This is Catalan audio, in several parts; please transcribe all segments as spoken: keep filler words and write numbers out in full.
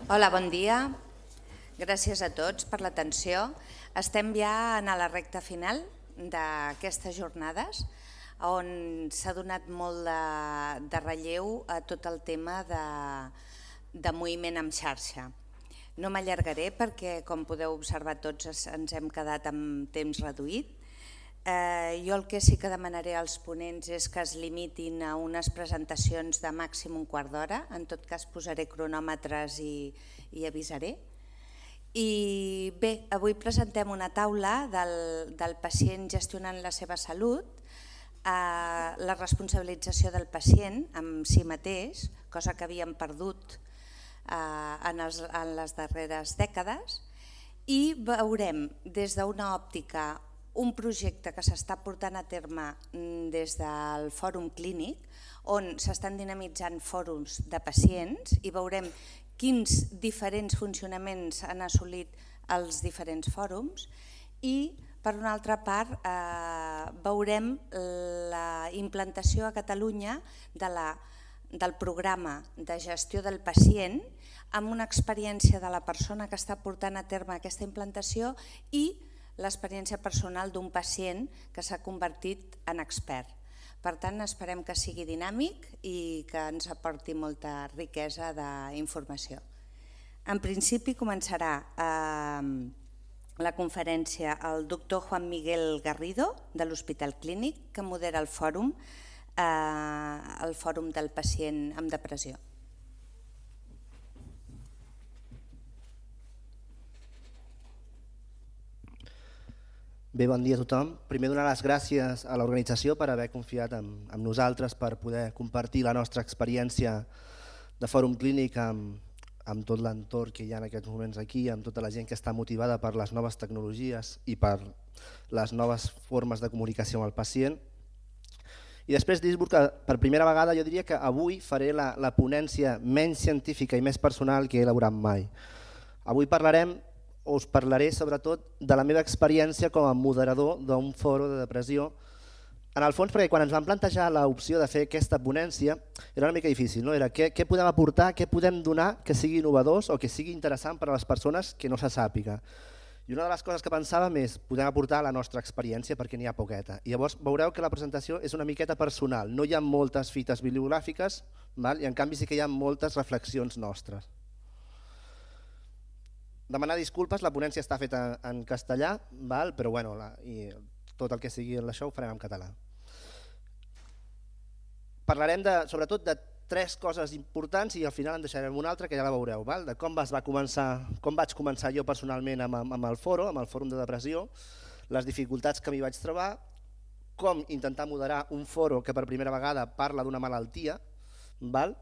Hola, bon dia. Gràcies a tots per l'atenció. Estem ja a la recta final d'aquestes jornades on s'ha donat molt de, de relleu a tot el tema de, de moviment en xarxa. No m'allargaré perquè, com podeu observar tots, ens hem quedat amb temps reduït. Eh, jo el que sí que demanaré als ponents és que es limitin a unes presentacions de màxim un quart d'hora. En tot cas posaré cronòmetres i, i avisaré. I bé, avui presentem una taula del, del pacient gestionant la seva salut, eh, la responsabilització del pacient amb si mateix, cosa que havíem perdut eh, en, els, en les darreres dècades, i veurem des d'una òptica un projecte que s'està portant a terme des del Fòrum Clínic, on s'estan dinamitzant fòrums de pacients i veurem quins diferents funcionaments han assolit els diferents fòrums i, per una altra part, eh, veurem la implantació a Catalunya de la, del programa de gestió del pacient amb una experiència de la persona que està portant a terme aquesta implantació i l'experiència personal d'un pacient que s'ha convertit en expert. Per tant, esperem que sigui dinàmic i que ens aporti molta riquesa d'informació. En principi començarà eh, la conferència el doctor Juan Miguel Garrido de l'Hospital Clínic, que modera el fòrum, eh, el fòrum del pacient amb depressió. Bé, bon dia a tothom. Primer donar les gràcies a l'organització per haver confiat en, en nosaltres per poder compartir la nostra experiència de fòrum clínic amb, amb tot l'entorn que hi ha en aquests moments aquí, amb tota la gent que està motivada per les noves tecnologies i per les noves formes de comunicació amb el pacient. I després dir-vos que per primera vegada jo diria que avui faré la, la ponència menys científica i més personal que he elaborat mai. Avui parlarem us parlaré sobretot de la meva experiència com a moderador d'un fòrum de depressió. En el fons, perquè quan ens van plantejar l'opció de fer aquesta ponència era una mica difícil, no? Era què, què podem aportar, què podem donar que sigui innovadors o que sigui interessant per a les persones que no se sàpiga. I una de les coses que pensàvem és podem aportar la nostra experiència perquè n'hi ha poqueta. I llavors veureu que la presentació és una miqueta personal, no hi ha moltes fites bibliogràfiques, val? I en canvi sí que hi ha moltes reflexions nostres. Demanar disculpes, la ponència està feta en castellà, val? Però bueno, la, i tot el que sigui això ho farem en català. Parlarem de, sobretot de tres coses importants i al final en deixarem una altra que ja la veureu, val? De com, vas va començar, com vaig començar jo personalment amb, amb el fòrum, amb el fòrum de depressió, les dificultats que m'hi vaig trobar, com intentar moderar un fòrum que per primera vegada parla d'una malaltia, val?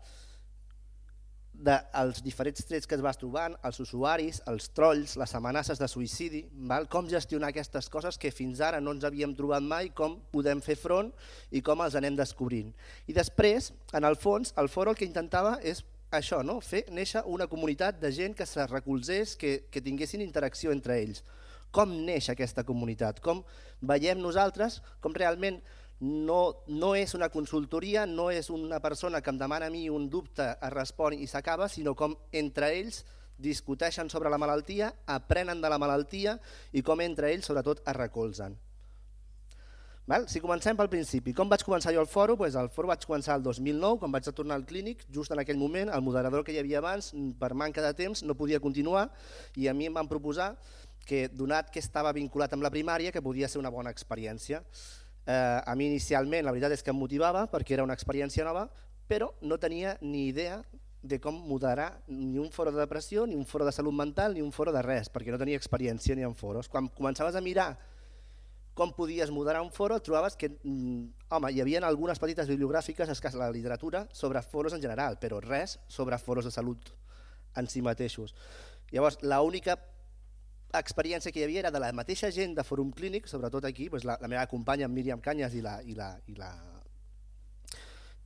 Dels diferents trets que es vas trobant, els usuaris, els trolls, les amenaces de suïcidi, val? Com gestionar aquestes coses que fins ara no ens havíem trobat mai, com podem fer front i com els anem descobrint. I després, en el fons, el fòrum el que intentava és això, no? Fer néixer una comunitat de gent que se recolzés, que, que tinguessin interacció entre ells. Com neix aquesta comunitat? Com veiem nosaltres, com realment No, no és una consultoria, no és una persona que em demana a mi un dubte, es respon i s'acaba, sinó com entre ells discuteixen sobre la malaltia, aprenen de la malaltia i com entre ells sobretot es recolzen. Val? Si comencem pel principi, com vaig començar jo el fòrum? Pues el fòrum vaig començar el dos mil nou, quan vaig tornar al clínic, just en aquell moment el moderador que hi havia abans, per manca de temps, no podia continuar i a mi em van proposar que, donat que estava vinculat amb la primària, que podia ser una bona experiència. Eh, a mi inicialment la veritat és que em motivava perquè era una experiència nova, però no tenia ni idea de com moderar ni un fòrum de depressió, ni un fòrum de salut mental, ni un fòrum de res, perquè no tenia experiència ni en fòrums. Quan començaves a mirar com podies moderar un fòrum, trobaves que home, hi havia algunes petites bibliogràfiques a la literatura sobre fòrums en general, però res sobre fòrums de salut en si mateixos. Llavors, l'única experiència que hi havia era de la mateixa gent de fòrum clínic, sobretot aquí, doncs la, la meva companya Míriam Canyes i, la, i, la, i, la,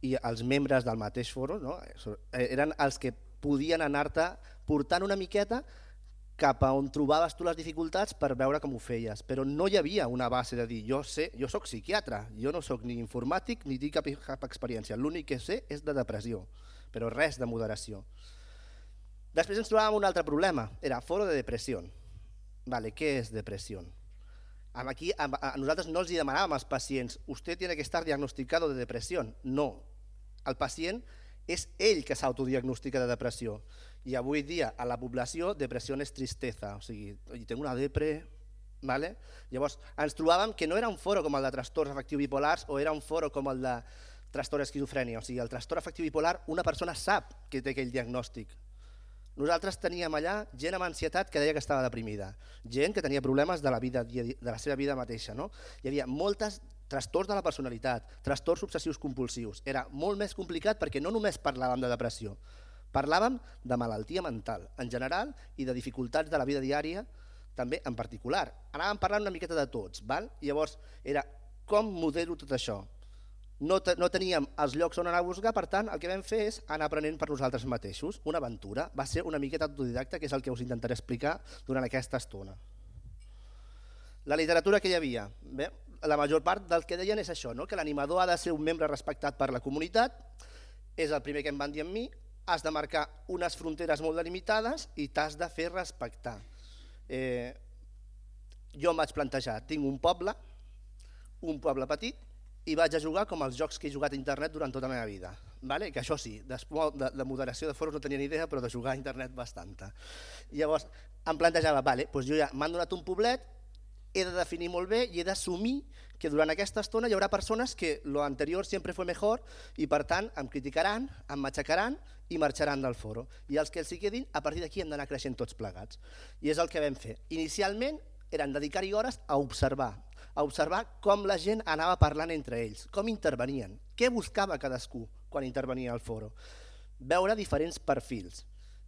i els membres del mateix fòrum, no? Eren els que podien anar-te portant una miqueta cap a on trobaves tu les dificultats per veure com ho feies, però no hi havia una base de dir jo sé, jo soc psiquiatre, jo no soc ni informàtic ni tinc cap, cap experiència, l'únic que sé és de depressió, però res de moderació. Després ens trobàvem un altre problema, era foro de depressió. Vale, què és depressió? Aquí a nosaltres no els demanàvem als pacients «Usted tiene que estar diagnosticado de depresión». No, el pacient és ell que s'autodiagnostica de depressió. I avui dia a la població depressió és tristesa, o sigui, tinc una depre... Vale? Llavors ens trobàvem que no era un foro com el de trastorns afectius bipolars o era un foro com el de trastorn esquizofrènia. O sigui, el trastorn afectiu bipolar una persona sap que té aquell diagnòstic. Nosaltres teníem allà gent amb ansietat que deia que estava deprimida, gent que tenia problemes de la, vida, de la seva vida mateixa. No? Hi havia molts trastorns de la personalitat, trastorns obsessius compulsius. Era molt més complicat perquè no només parlàvem de depressió, parlàvem de malaltia mental en general i de dificultats de la vida diària també en particular. Anàvem parlant una miqueta de tots, val? Llavors era com modelo tot això. No, te, no teníem els llocs on anar a buscar, per tant el que vam fer és anar aprenent per nosaltres mateixos. Una aventura, va ser una miqueta autodidacta, que és el que us intentaré explicar durant aquesta estona. La literatura que hi havia, bé, la major part del que deien és això, no? Que l'animador ha de ser un membre respectat per la comunitat, és el primer que em van dir a mi, has de marcar unes fronteres molt delimitades i t'has de fer respectar. Eh, jo em vaig plantejar, tinc un poble, un poble petit, i vaig a jugar com els jocs que he jugat a internet durant tota la meva vida. Vale? Que això sí, de, de moderació de foros no tenia ni idea, però de jugar a internet bastanta. Llavors em plantejava, vale, doncs jo ja m'han donat un poblet, he de definir molt bé i he d'assumir que durant aquesta estona hi haurà persones que lo anterior sempre fue mejor i per tant em criticaran, em matxacaran i marxaran del foro. I els que els hi quedin, a partir d'aquí hem d'anar creixent tots plegats. I és el que vam fer. Inicialment eren dedicar-hi hores a observar, a observar com la gent anava parlant entre ells, com intervenien, què buscava cadascú quan intervenia al foro. Veure diferents perfils.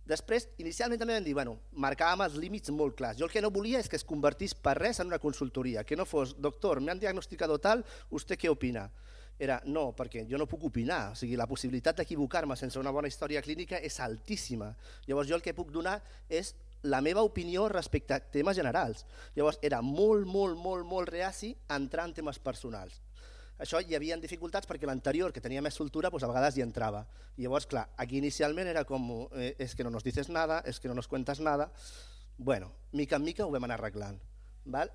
Després, inicialment també vam dir, bueno, marcàvem els límits molt clars. Jo el que no volia és que es convertís per res en una consultoria, que no fos, doctor, me han diagnosticado tal, ¿usted qué opina? Era, no, perquè jo no puc opinar, o sigui, la possibilitat d'equivocar-me sense una bona història clínica és altíssima. Llavors jo el que puc donar és la meva opinió respecte a temes generals. Llavors era molt, molt, molt, molt reaci a entrar en temes personals. Això hi havia dificultats perquè l'anterior, que tenia més soltura, doncs a vegades hi entrava. I llavors, clar, aquí inicialment era com, eh, és que no nos dices nada, és que no nos cuentas nada. Bueno, mica en mica ho vam anar arreglant. Val?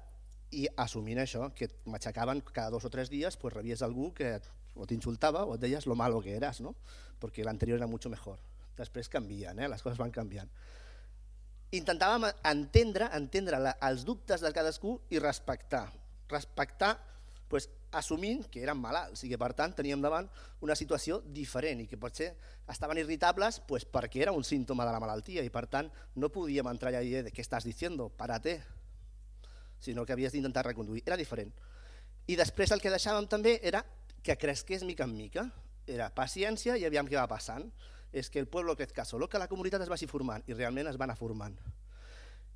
I assumint això, que m'aixecaven cada dos o tres dies, pues rebies algú que o t'insultava o et deies lo malo que eras, ¿no? Porque l'anterior era mucho mejor. Després canvien, eh? Les coses van canviant. Intentàvem entendre, entendre la, els dubtes de cadascú i respectar. Respectar, pues, assumint que eren malalts i que per tant teníem davant una situació diferent i que potser estaven irritables pues, perquè era un símptoma de la malaltia i per tant no podíem entrar allà i dir què estàs diciendo, párate, sinó que havies d'intentar reconduir, era diferent. I després el que deixàvem també era que cresqués mica en mica, era paciència i aviam què va passant, és que el pueblo crezca solo, que la comunitat es vagi formant i realment es va anar formant.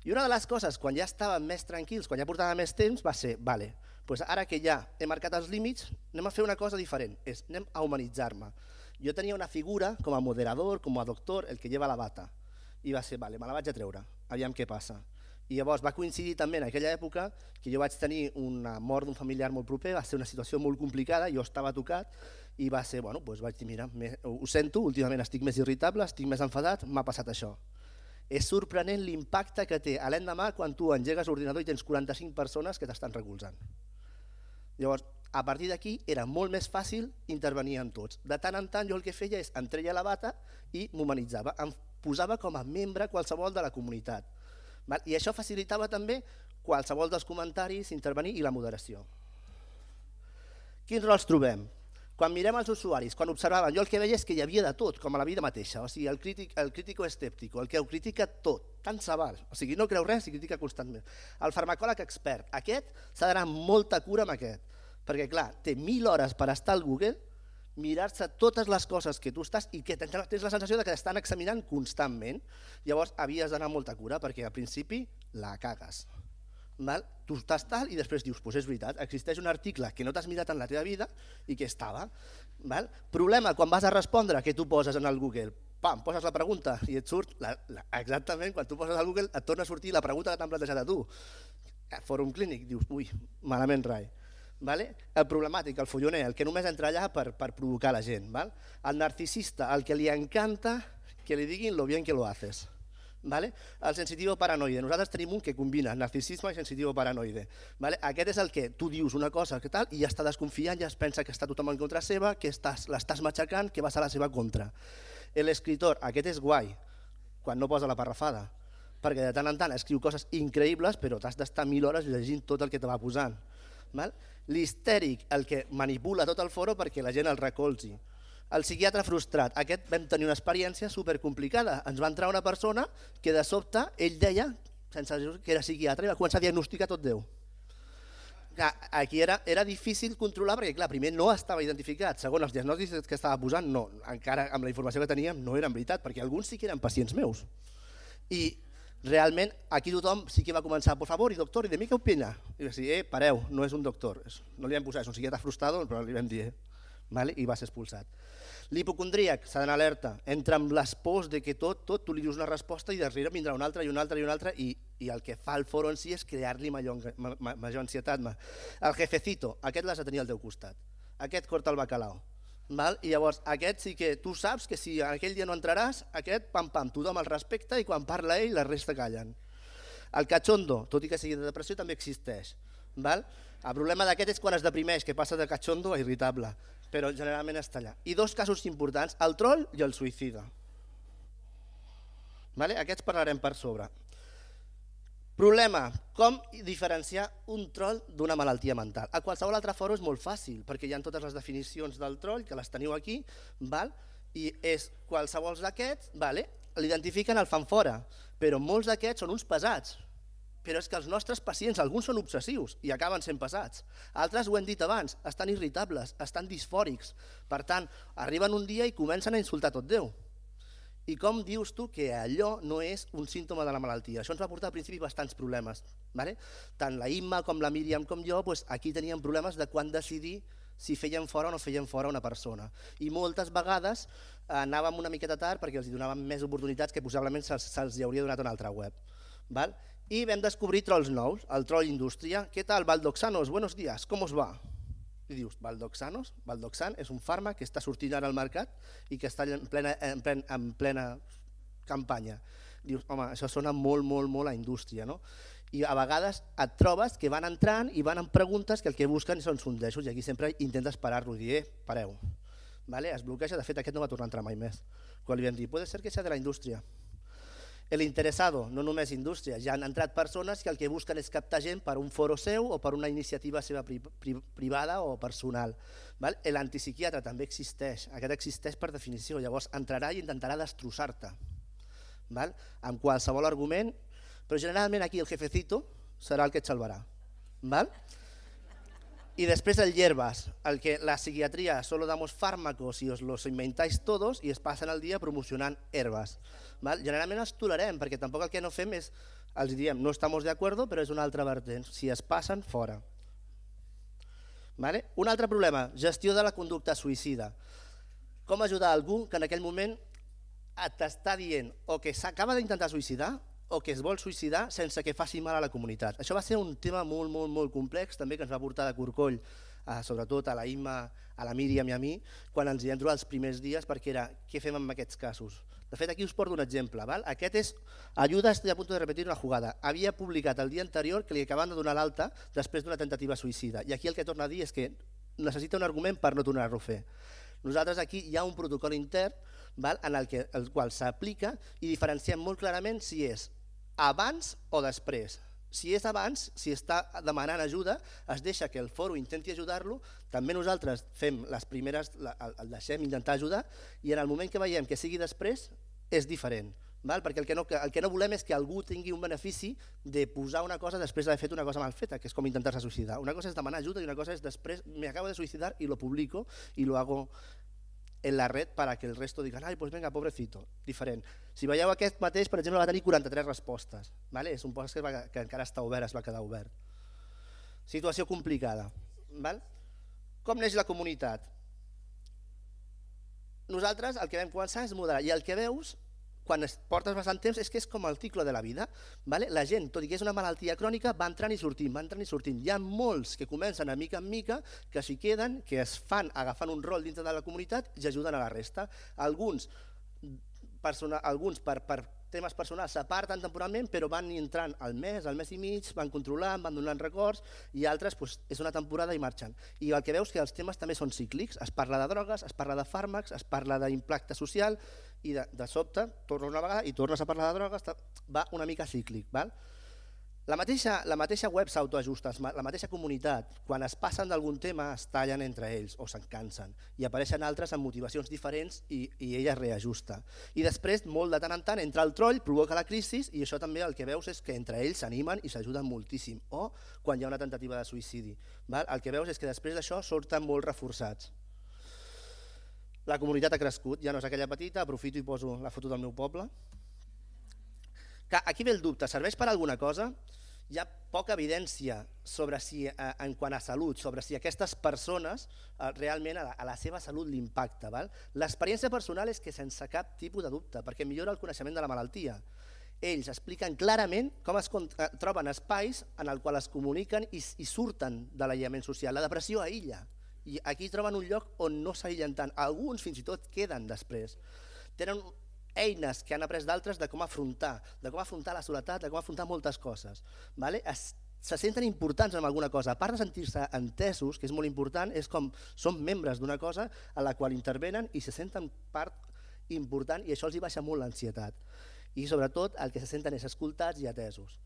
I una de les coses, quan ja estàvem més tranquils, quan ja portàvem més temps, va ser, vale, doncs ara que ja he marcat els límits, anem a fer una cosa diferent, és anem a humanitzar-me. Jo tenia una figura com a moderador, com a doctor, el que lleva la bata, i va ser, vale, me la vaig a treure, aviam què passa. I llavors va coincidir també en aquella època que jo vaig tenir una mort d'un familiar molt proper, va ser una situació molt complicada, jo estava tocat i va ser, bueno, doncs vaig dir, mira, ho sento, últimament estic més irritable, estic més enfadat, m'ha passat això. És sorprenent l'impacte que té a l'endemà quan tu engegues l'ordinador i tens quaranta-cinc persones que t'estan recolzant. Llavors, a partir d'aquí era molt més fàcil intervenir en tots. De tant en tant jo el que feia és em treia la bata i m'humanitzava, em posava com a membre qualsevol de la comunitat. I això facilitava també qualsevol dels comentaris, intervenir i la moderació. Quins rols trobem? Quan mirem els usuaris, quan observaven, jo el que veia és que hi havia de tot, com a la vida mateixa, o sigui, el crític, el crítico escèptico, el que ho critica tot, tant se val, o sigui, no creu res i critica constantment. El farmacòleg expert, aquest s'ha d'anar amb molta cura amb aquest, perquè clar, té mil hores per estar al Google, mirar-se totes les coses que tu estàs i que tens la sensació que t'estan examinant constantment, llavors havies d'anar amb molta cura perquè al principi la cagues. Val? Tu estàs tal i després dius, doncs és veritat, existeix un article que no t'has mirat en la teva vida i que estava. Val? Problema, quan vas a respondre, què tu poses en el Google? Pam, poses la pregunta i et surt, la, la, exactament, quan tu poses al Google et torna a sortir la pregunta que t'han plantejat a tu. Fòrum clínic, dius, ui, malament rai. Vale? El problemàtic, el folloner, el que només entra allà per, per provocar la gent. Val? El narcisista, el que li encanta que li diguin lo bien que lo haces. El sensitivo paranoide. Nosaltres tenim un que combina narcisisme i sensitivo paranoide. Aquest és el que tu dius una cosa que tal i ja està desconfiant, ja es pensa que està tothom en contra seva, que l'estàs matxacant, que vas a la seva contra. L'escriptor, aquest és guai, quan no posa la parrafada, perquè de tant en tant escriu coses increïbles però t'has d'estar mil hores llegint tot el que te va posant. L'histèric, el que manipula tot el foro perquè la gent el recolzi. El psiquiatre frustrat, aquest vam tenir una experiència supercomplicada. Ens va entrar una persona que de sobte ell deia, sense dir que era psiquiatre, i va començar a diagnosticar tot Déu. Aquí era difícil controlar perquè clar, primer no estava identificat, segon els diagnòstics que estava posant, no, encara amb la informació que teníem no eren veritat, perquè alguns sí que eren pacients meus. I realment aquí tothom sí que va començar, por favor, i doctor, i de mi què opina? I va dir, eh, pareu, no és un doctor, no li vam posar, és un psiquiatre frustrado, però li vam dir, i va ser expulsat. L'hipocondríac s'ha d'anar alerta, entra amb les pors que tot, tot, tu li dius una resposta i darrere vindrà una altra i una altra i una altra i el que fa el foro en si és crear-li major ansietat. El jefecito, aquest l'has de tenir al teu costat, aquest corta el bacalao. I llavors aquest sí que tu saps que si aquell dia no entraràs, aquest pam pam, tothom el respecta i quan parla ell la resta callen. El cachondo, tot i que sigui de depressió, també existeix. El problema d'aquest és quan es deprimeix, que passa de cachondo a irritable. Però generalment està allà. I dos casos importants, el troll i el suïcida. Aquests parlarem per sobre. Problema, com diferenciar un troll d'una malaltia mental? A qualsevol altre foro és molt fàcil, perquè hi ha totes les definicions del troll, que les teniu aquí, i és qualsevol d'aquests, l'identifiquen, el fan fora, però molts d'aquests són uns pesats. Però és que els nostres pacients, alguns són obsessius i acaben sent pesats. Altres, ho hem dit abans, estan irritables, estan disfòrics. Per tant, arriben un dia i comencen a insultar tot Déu. I com dius tu que allò no és un símptoma de la malaltia? Això ens va portar al principi bastants problemes. Tant la Imma com la Míriam com jo, aquí teníem problemes de quan decidir si feien fora o no feien fora una persona. I moltes vegades anàvem una miqueta tard perquè els donàvem més oportunitats que possiblement se'ls hauria donat una altra web. I vam descobrir trolls nous, el troll indústria. ¿Qué tal, Valdoxanos? Buenos días, ¿cómo os va? I dius, Valdoxanos? Valdoxan és un fàrmac que està sortint ara al mercat i que està en plena, en plena, en plena campanya. Dius, home, això sona molt, molt, molt a indústria, no? I a vegades et trobes que van entrant i van amb preguntes que el que busquen són sondejos i aquí sempre intentes parar-lo i dir, eh, pareu. Es bloqueja, de fet aquest no va tornar a entrar mai més. Quan li vam dir, puede ser que sea de la indústria. El interesado, no només indústria, ja han entrat persones que el que busquen és captar gent per un foro seu o per una iniciativa seva privada o personal. L'antipsiquiatre també existeix, aquest existeix per definició, llavors entrarà i intentarà destrossar-te amb qualsevol argument, però generalment aquí el jefecito serà el que et salvarà. Y después el hierbas, al que la psiquiatría solo damos fármacos y os los inventáis todos y es passen el dia promocionant herbes. Generalment els tolerem perquè tampoc el que no fem és, els diem, no estamos de acuerdo, però és una altra vertent, si es passen, fora. Un altre problema, gestió de la conducta suïcida. Com ajudar algú que en aquell moment t'està dient o que s'acaba d'intentar suïcidar o que es vol suïcidar sense que faci mal a la comunitat. Això va ser un tema molt, molt, molt complex, també que ens va portar de corcoll, sobretot a la Imma, a la Míriam i a mi, quan ens hi vam trobar els primers dies, perquè era, què fem amb aquests casos? De fet, aquí us porto un exemple. Aquest és, ayuda, estoy a punto de repetir una jugada. Havia publicat el dia anterior que li acaben de donar l'alta després d'una tentativa suïcida. I aquí el que torna a dir és que necessita un argument per no tornar-ho a fer. Nosaltres aquí hi ha un protocol intern en el qual s'aplica i diferenciem molt clarament si és abans o després. Si és abans, si està demanant ajuda, es deixa que el foro intenti ajudar-lo, també nosaltres fem les primeres, el deixem intentar ajudar i en el moment que veiem que sigui després és diferent, perquè el que no volem és que algú tingui un benefici de posar una cosa després d'haver fet una cosa mal feta, que és com intentar-se suïcidar. Una cosa és demanar ajuda i una cosa és després, me acabo de suïcidar i lo publico i lo hago en la red para que el resto digan, ai, pues venga, pobrecito, diferent. Si veieu aquest mateix, per exemple, va tenir quaranta-tres respostes. És un post que encara està obert, es va quedar obert. Situació complicada. Com neix la comunitat? Nosaltres el que vam començar és moderar, i el que veus, quan portes bastant temps, és que és com el cicle de la vida. La gent, tot i que és una malaltia crònica, va entrant i sortint, va entrant i sortint. Hi ha molts que comencen a mica en mica, que s'hi queden, que es fan agafant un rol dintre de la comunitat i ajuden a la resta. Alguns per temes personals s'aparten temporalment, però van entrant al mes, al mes i mig, van controlant, van donant records, i altres doncs, és una temporada i marxen. I el que veus que els temes també són cíclics, es parla de drogues, es parla de fàrmacs, es parla d'impacte social, i de, de sobte tornes una vegada i tornes a parlar de drogues, va una mica cíclic. Val? La mateixa, la mateixa web s'autoajusta, la mateixa comunitat, quan es passen d'algun tema es tallen entre ells o se'n cansen i apareixen altres amb motivacions diferents i, i ella es reajusta. I després, molt de tant en tant, entra el troll, provoca la crisi i això també el que veus és que entre ells s'animen i s'ajuden moltíssim. O quan hi ha una tentativa de suïcidi. Val? El que veus és que després d'això surten molt reforçats. La comunitat ha crescut, ja no és aquella petita, aprofito i poso la foto del meu poble. Aquí ve el dubte, serveix per alguna cosa? Hi ha poca evidència sobre si, en quant a salut, sobre si aquestes persones realment a la, a la seva salut l'impacta. L'experiència personal és que sense cap tipus de dubte, perquè millora el coneixement de la malaltia. Ells expliquen clarament com es troben espais en el qual es comuniquen i, i surten de l'aïllament social. La depressió aïlla, i aquí troben un lloc on no s'aïllen tant. Alguns fins i tot queden després. Tenen eines que han après d'altres de com afrontar, de com afrontar la soledat, de com afrontar moltes coses. Vale? Es, se senten importants en alguna cosa. A part de sentir-se entesos, que és molt important, és com són membres d'una cosa a la qual intervenen i se senten part important i això els hi baixa molt l'ansietat. I sobretot el que se senten és escoltats i atesos.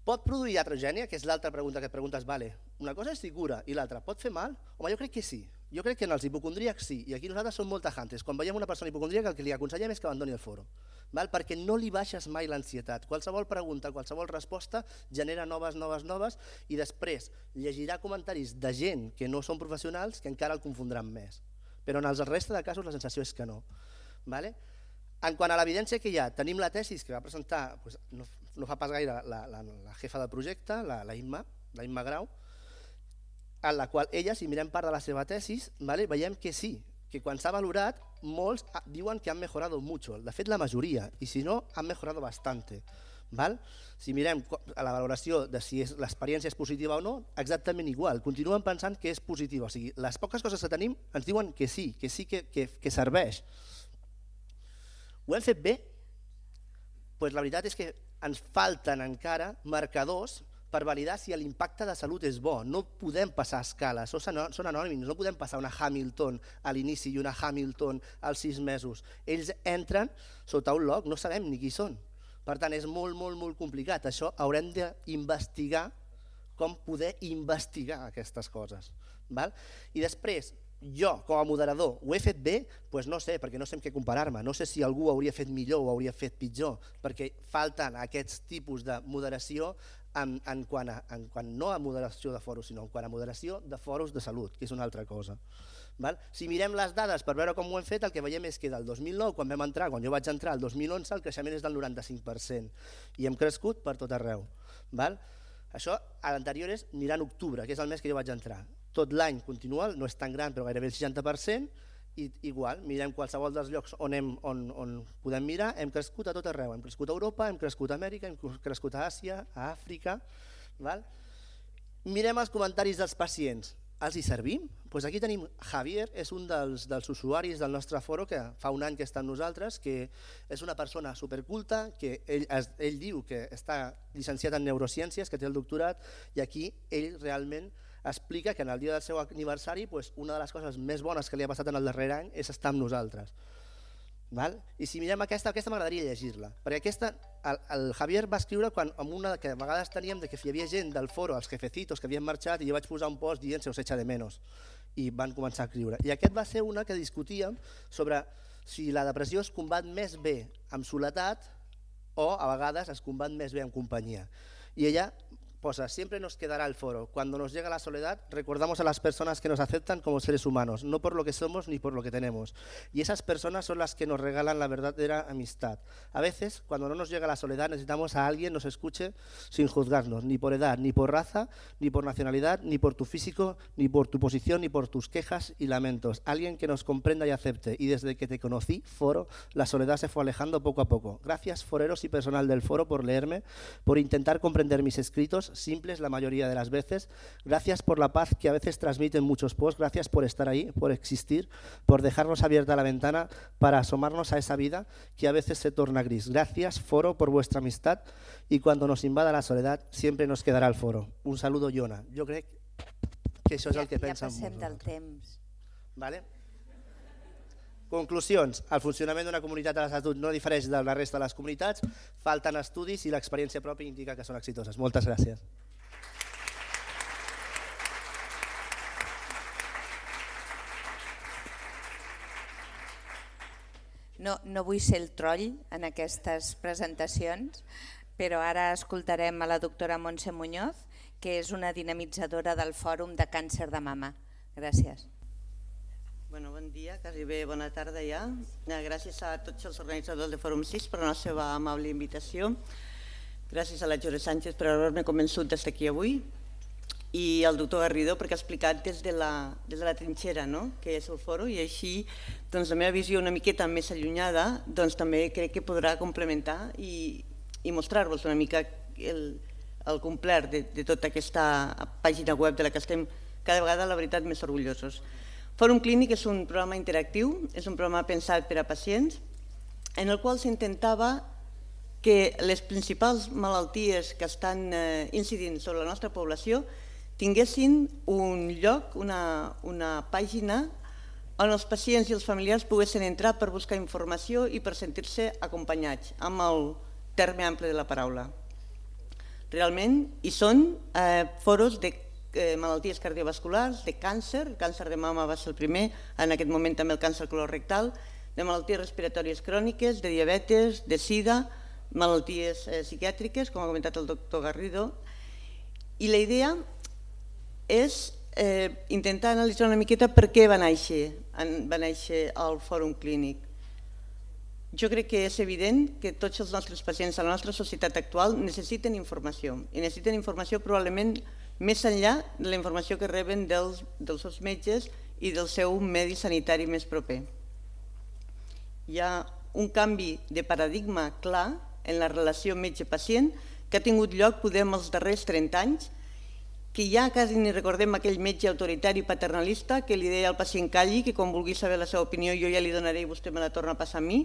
Pot produir iatrogènia, que és l'altra pregunta que et preguntes, vale, una cosa és si cura i l'altra, pot fer mal? Home, jo crec que sí. Jo crec que en els hipocondríacs sí, i aquí nosaltres som molt tajantes. Quan veiem una persona hipocondríaca el que li aconsellem és que abandoni el foro, val? Perquè no li baixes mai l'ansietat. Qualsevol pregunta, qualsevol resposta genera noves, noves, noves i després llegirà comentaris de gent que no són professionals que encara el confondran més. Però en el resta de casos la sensació és que no. Vale? En quant a l'evidència que hi ha, tenim la tesis que va presentar doncs, no, no fa pas gaire la, la, la jefa del projecte, la, la Imma, la Imma Grau, en la qual ella, si mirem part de la seva tesis, vale, veiem que sí, que quan s'ha valorat, molts diuen que han mejorado mucho, de fet la majoria, i si no, han mejorado bastante. Val? Si mirem a la valoració de si l'experiència és positiva o no, exactament igual, continuen pensant que és positiva, o sigui, les poques coses que tenim ens diuen que sí, que sí que, que, que serveix. Ho hem fet bé? Pues la veritat és que ens falten encara marcadors per validar si l'impacte de salut és bo. No podem passar a escala, són anònims, no podem passar una Hamilton a l'inici i una Hamilton als sis mesos. Ells entren sota un log, no sabem ni qui són. Per tant, és molt, molt, molt complicat. Això haurem d'investigar com poder investigar aquestes coses. I després, jo, com a moderador, ho he fet bé? Doncs no sé, perquè no sé amb què comparar-me. No sé si algú ho hauria fet millor o ho hauria fet pitjor, perquè falten aquests tipus de moderació en, en, quant a, en quant no a moderació de foros, sinó en quant a moderació de foros de salut, que és una altra cosa. Val? Si mirem les dades per veure com ho hem fet, el que veiem és que del dos mil nou, quan vam entrar, quan jo vaig entrar, al dos mil onze, el creixement és del noranta-cinc per cent i hem crescut per tot arreu. Val? Això, a l'anterior és anirà en octubre, que és el mes que jo vaig entrar. Tot l'any continua, no és tan gran, però gairebé el seixanta per cent, i igual, mirem qualsevol dels llocs on, hem, on, on podem mirar, hem crescut a tot arreu, hem crescut a Europa, hem crescut a Amèrica, hem crescut a Àsia, a Àfrica. Val? Mirem els comentaris dels pacients, els hi servim? Pues aquí tenim Javier, és un dels, dels usuaris del nostre foro que fa un any que està amb nosaltres, que és una persona superculta, que ell, ell diu que està llicenciat en neurociències, que té el doctorat, i aquí ell realment explica que en el dia del seu aniversari pues, una de les coses més bones que li ha passat en el darrer any és estar amb nosaltres. Val? I si mirem aquesta, aquesta m'agradaria llegir-la, perquè aquesta, el, el Javier va escriure quan, amb una que a vegades teníem de que hi havia gent del foro, els jefecitos que havien marxat, i jo vaig posar un post dient se us echa de menos, i van començar a escriure. I aquest va ser una que discutíem sobre si la depressió es combat més bé amb soledat o a vegades es combat més bé amb companyia. Y ella posa, siempre nos quedará el foro. Cuando nos llega la soledad, recordamos a las personas que nos aceptan como seres humanos, no por lo que somos ni por lo que tenemos. Y esas personas son las que nos regalan la verdadera amistad. A veces, cuando no nos llega la soledad, necesitamos a alguien que nos escuche sin juzgarnos, ni por edad, ni por raza, ni por nacionalidad, ni por tu físico, ni por tu posición, ni por tus quejas y lamentos. Alguien que nos comprenda y acepte. Y desde que te conocí, foro, la soledad se fue alejando poco a poco. Gracias, foreros y personal del foro, por leerme, por intentar comprender mis escritos, sencillos, simples la mayoría de las veces. Gracias por la paz que a veces transmiten muchos posts, gracias por estar ahí, por existir, por dejarnos abierta la ventana para asomarnos a esa vida que a veces se torna gris. Gracias, foro, por vuestra amistad y cuando nos invada la soledad siempre nos quedarà el foro. Un saludo, Iona. Jo crec que això és el que pensen molts. Ja passem del temps. Vale? Conclusions. El funcionament d'una comunitat de l'Estatut no difereix de la resta de les comunitats, falten estudis i l'experiència pròpia indica que són exitoses. Moltes gràcies. No, no vull ser el troll en aquestes presentacions, però ara escoltarem a la doctora Montse Muñoz, que és una dinamitzadora del Fòrum de Càncer de Mama. Gràcies. Bueno, bon dia, quasi bé bona tarda ja. Gràcies a tots els organitzadors de Fòrum sis per la seva amable invitació. Gràcies a la Jore Sánchez per haver-me convençut d'estar aquí avui i al doctor Garrido perquè ha explicat des de la, des de la trinxera, no?, que és el fòrum, i així doncs, la meva visió una miqueta més allunyada doncs, també crec que podrà complementar i, i mostrar-vos una mica el, el complet de, de tota aquesta pàgina web de la que estem cada vegada, la veritat, més orgullosos. Fòrum Clínic és un programa interactiu, és un programa pensat per a pacients, en el qual s'intentava que les principals malalties que estan eh, incidint sobre la nostra població tinguessin un lloc, una, una pàgina on els pacients i els familiars poguessin entrar per buscar informació i per sentir-se acompanyats, amb el terme ample de la paraula. Realment hi són eh, foros de eh, malalties cardiovasculars, de càncer, el càncer de mama va ser el primer, en aquest moment també el càncer colorectal, de malalties respiratòries cròniques, de diabetes, de sida, malalties eh, psiquiàtriques, com ha comentat el doctor Garrido, i la idea és eh, intentar analitzar una miqueta per què va néixer, va néixer el Fòrum Clínic. Jo crec que és evident que tots els nostres pacients a la nostra societat actual necessiten informació, i necessiten informació probablement més enllà de la informació que reben dels, dels seus metges i del seu medi sanitari més proper. Hi ha un canvi de paradigma clar en la relació metge-pacient que ha tingut lloc poder en els darrers trenta anys, que ja quasi ni recordem aquell metge autoritari paternalista que li deia al pacient calli, que quan vulgui saber la seva opinió jo ja li donaré i vostè me la torna a passar a mi,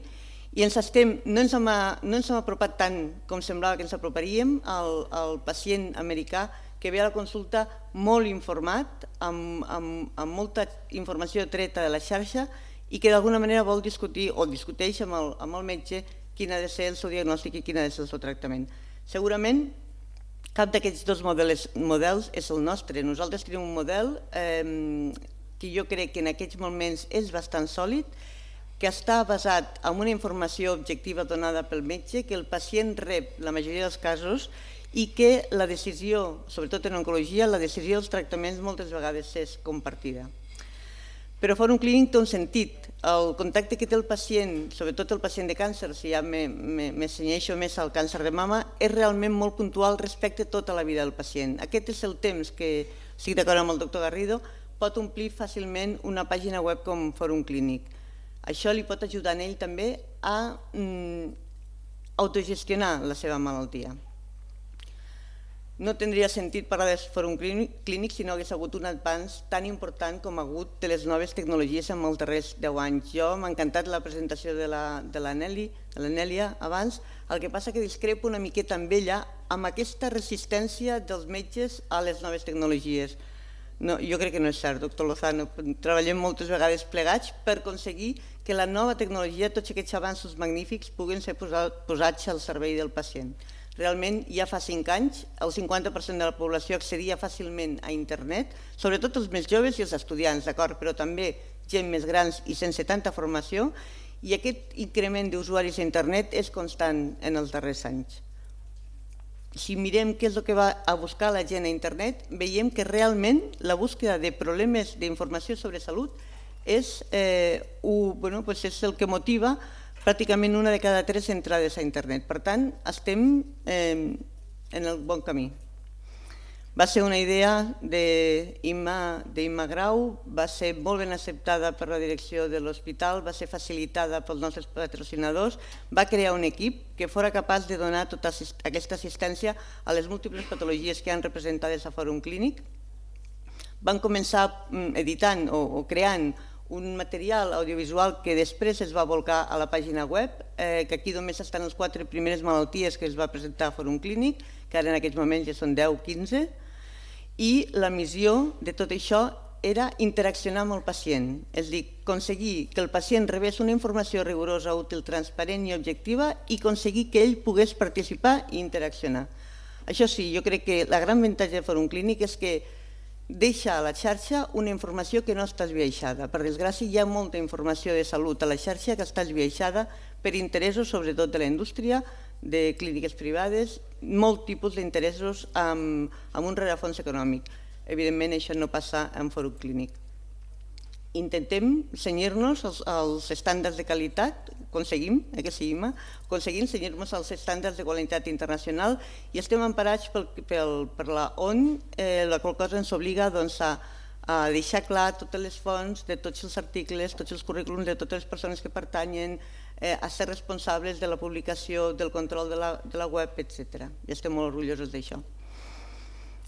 i ens estem, no ens hem, no ens hem apropat tant com semblava que ens aproparíem al, al pacient americà que ve a la consulta molt informat, amb, amb, amb molta informació treta de la xarxa i que d'alguna manera vol discutir o discuteix amb el, amb el metge quin ha de ser el seu diagnòstic i quin ha de ser el seu tractament. Segurament cap d'aquests dos models, models és el nostre. Nosaltres tenim un model eh, que jo crec que en aquests moments és bastant sòlid, que està basat en una informació objectiva donada pel metge, que el pacient rep la majoria dels casos i que la decisió, sobretot en oncologia, la decisió dels tractaments moltes vegades és compartida. Però Fòrum Clínic té un sentit. El contacte que té el pacient, sobretot el pacient de càncer, si ja m'assenyeixo més al càncer de mama, és realment molt puntual respecte a tota la vida del pacient. Aquest és el temps que, estic d'acord amb el doctor Garrido, pot omplir fàcilment una pàgina web com Fòrum Clínic. Això li pot ajudar a ell també a mm, autogestionar la seva malaltia. No tindria sentit parlar de Fòrum Clínic si no hagués hagut un avanç tan important com ha hagut de les noves tecnologies en els darrers deu anys. Jo m'ha encantat la presentació de la, de la Nelly, de la Nèlia abans, el que passa que discrepo una miqueta amb ella amb aquesta resistència dels metges a les noves tecnologies. No, jo crec que no és cert, doctor Lozano. Treballem moltes vegades plegats per aconseguir que la nova tecnologia, tots aquests avanços magnífics, puguin ser posats al servei del pacient. Realment, ja fa cinc anys, el cinquanta per cent de la població accedia fàcilment a internet, sobretot els més joves i els estudiants, d'acord, però també gent més grans i sense tanta formació, i aquest increment d'usuaris a internet és constant en els darrers anys. Si mirem què és el que va a buscar la gent a internet, veiem que realment la búsqueda de problemes d'informació sobre salut és, eh, un, bueno, pues és el que motiva pràcticament una de cada tres entrades a internet. Per tant, estem eh, en el bon camí. Va ser una idea d'Imma Grau, va ser molt ben acceptada per la direcció de l'hospital, va ser facilitada pels nostres patrocinadors, va crear un equip que fora capaç de donar tota aquesta assistència a les múltiples patologies que han representades a Fòrum Clínic. Van començar editant o creant un material audiovisual que després es va volcar a la pàgina web, que aquí només estan les quatre primeres malalties que es va presentar a Fòrum Clínic, que ara en aquests moments ja són deu o quinze, i la missió de tot això era interaccionar amb el pacient, és a dir, aconseguir que el pacient rebés una informació rigorosa, útil, transparent i objectiva i aconseguir que ell pogués participar i interaccionar. Això sí, jo crec que la gran avantatge del Fòrum Clínic és que deixa a la xarxa una informació que no està esbiaixada. Per desgràcia, hi ha molta informació de salut a la xarxa que està esbiaixada per interessos, sobretot de la indústria, de clíniques privades, molt tipus d'interessos amb un rerefons econòmic. Evidentment, això no passa en Fòrum Clínic. Intentem cenyir-nos als estàndards de qualitat, aconseguim, que sí, Imma, aconseguim cenyir-nos als estàndards de qualitat internacional i estem emparats per la O N U, la qual cosa ens obliga a deixar clar totes les fonts de tots els articles, tots els currículums de totes les persones que pertanyen, a ser responsables de la publicació, del control de la web, etcètera. I estem molt orgullosos d'això.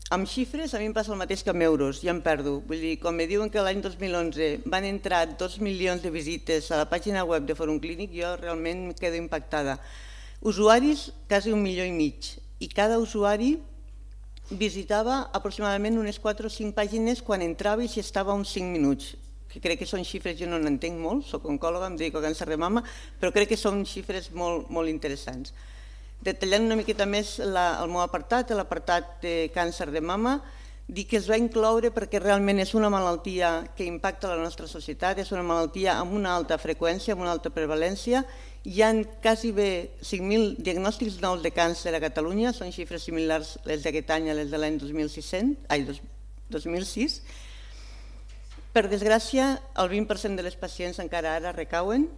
Amb xifres a mi em passa el mateix que amb euros, ja em perdo. Vull dir, quan me diuen que l'any dos mil onze van entrar dos milions de visites a la pàgina web de Fòrum Clínic, jo realment em quedo impactada. Usuaris, quasi un milió i mig, i cada usuari visitava aproximadament unes quatre o cinc pàgines quan entrava i s'hi estava uns cinc minuts, que crec que són xifres, jo no n'entenc molt, soc oncòloga, em dedico a càncer de mama, però crec que són xifres molt interessants. Detallant una miqueta més el meu apartat, l'apartat de càncer de mama, dir que es va incloure perquè realment és una malaltia que impacta la nostra societat, és una malaltia amb una alta freqüència, amb una alta prevalència. Hi ha quasi bé cinc mil diagnòstics nous de càncer a Catalunya, són xifres similars les d'aquest any a les de l'any dos mil sis. Per desgràcia, el vint per cent de les pacients encara ara recauen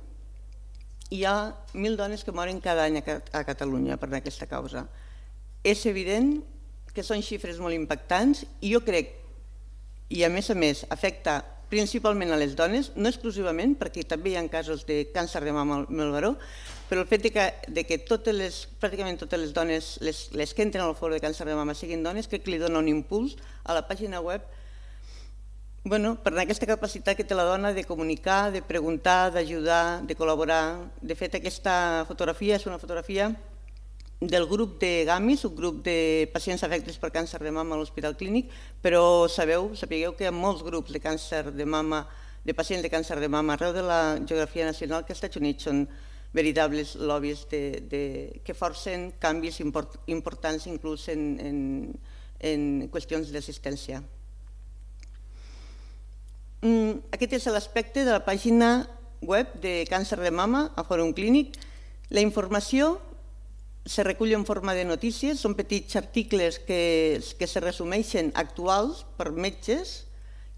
i hi ha mil dones que moren cada any a Catalunya per aquesta causa. És evident que són xifres molt impactants i jo crec, i a més a més afecta principalment a les dones, no exclusivament, perquè també hi ha casos de càncer de mama al baró, però el fet que pràcticament totes les dones, les que entren al fòrum de càncer de mama siguin dones, crec que li dona un impuls a la pàgina web per aquesta capacitat que té la dona de comunicar, de preguntar, d'ajudar, de col·laborar. De fet, aquesta fotografia és una fotografia del grup de GAMIS, un grup de pacients afectes per càncer de mama a l'Hospital Clínic, però sabeu, sapigueu que hi ha molts grups de càncer de mama, de pacients de càncer de mama arreu de la geografia nacional que als Estats Units són veritables lobbies que forcen canvis importants inclús en qüestions d'assistència. Aquest és l'aspecte de la pàgina web de càncer de mama a Fòrum Clínic. La informació se recull en forma de notícies, són petits articles que se resumeixen actuals per metges,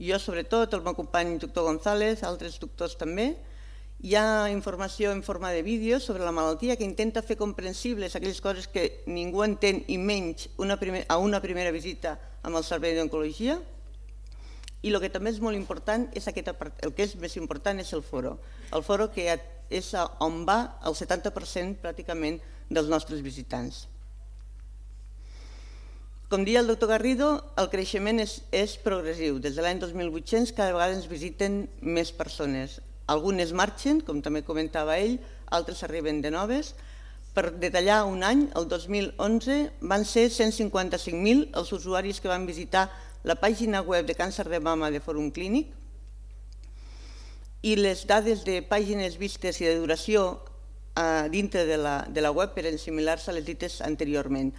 jo sobretot, el meu company doctor González, altres doctors també. Hi ha informació en forma de vídeos sobre la malaltia que intenta fer comprensibles aquelles coses que ningú entén i menys a una primera visita amb el servei d'oncologia. I el que també és molt important, el que és més important és el foro. El foro que és on va el setanta per cent pràcticament dels nostres visitants. Com deia el doctor Garrido, el creixement és progressiu. Des de l'any dos mil vuit-cents cada vegada ens visiten més persones. Algunes marxen, com també comentava ell, altres arriben de noves. Per detallar un any, el dos mil onze, van ser cent cinquanta-cinc mil els usuaris que van visitar la pàgina web de càncer de mama de Fòrum Clínic i les dades de pàgines vistes i de duració dintre de la web eren similars a les dites anteriorment.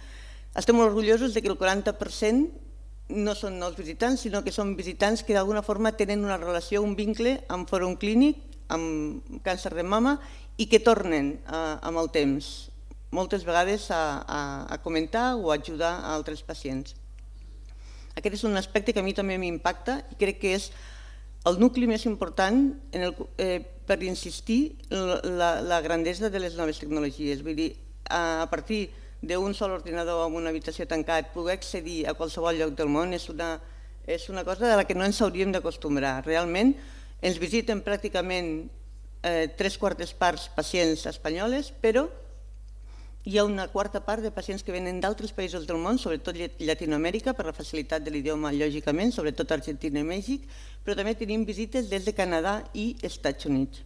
Estem molt orgullosos que el quaranta per cent no són nous visitants, sinó que són visitants que d'alguna forma tenen una relació, un vincle amb Fòrum Clínic, amb càncer de mama i que tornen amb el temps, moltes vegades a comentar o a ajudar a altres pacients. Aquest és un aspecte que a mi també m'impacta i crec que és el nucli més important per insistir en la grandesa de les noves tecnologies. Vull dir, a partir d'un sol ordinador en una habitació tancat, poder accedir a qualsevol lloc del món és una, és una cosa de la que no ens hauríem d'acostumbrar. Realment ens visiten pràcticament eh, tres quartes parts pacients espanyoles, però hi ha una quarta part de pacients que venen d'altres països del món, sobretot Llatinoamèrica, per la facilitat de l'idioma, lògicament, sobretot Argentina i Mèxic, però també tenim visites des de Canadà i Estats Units.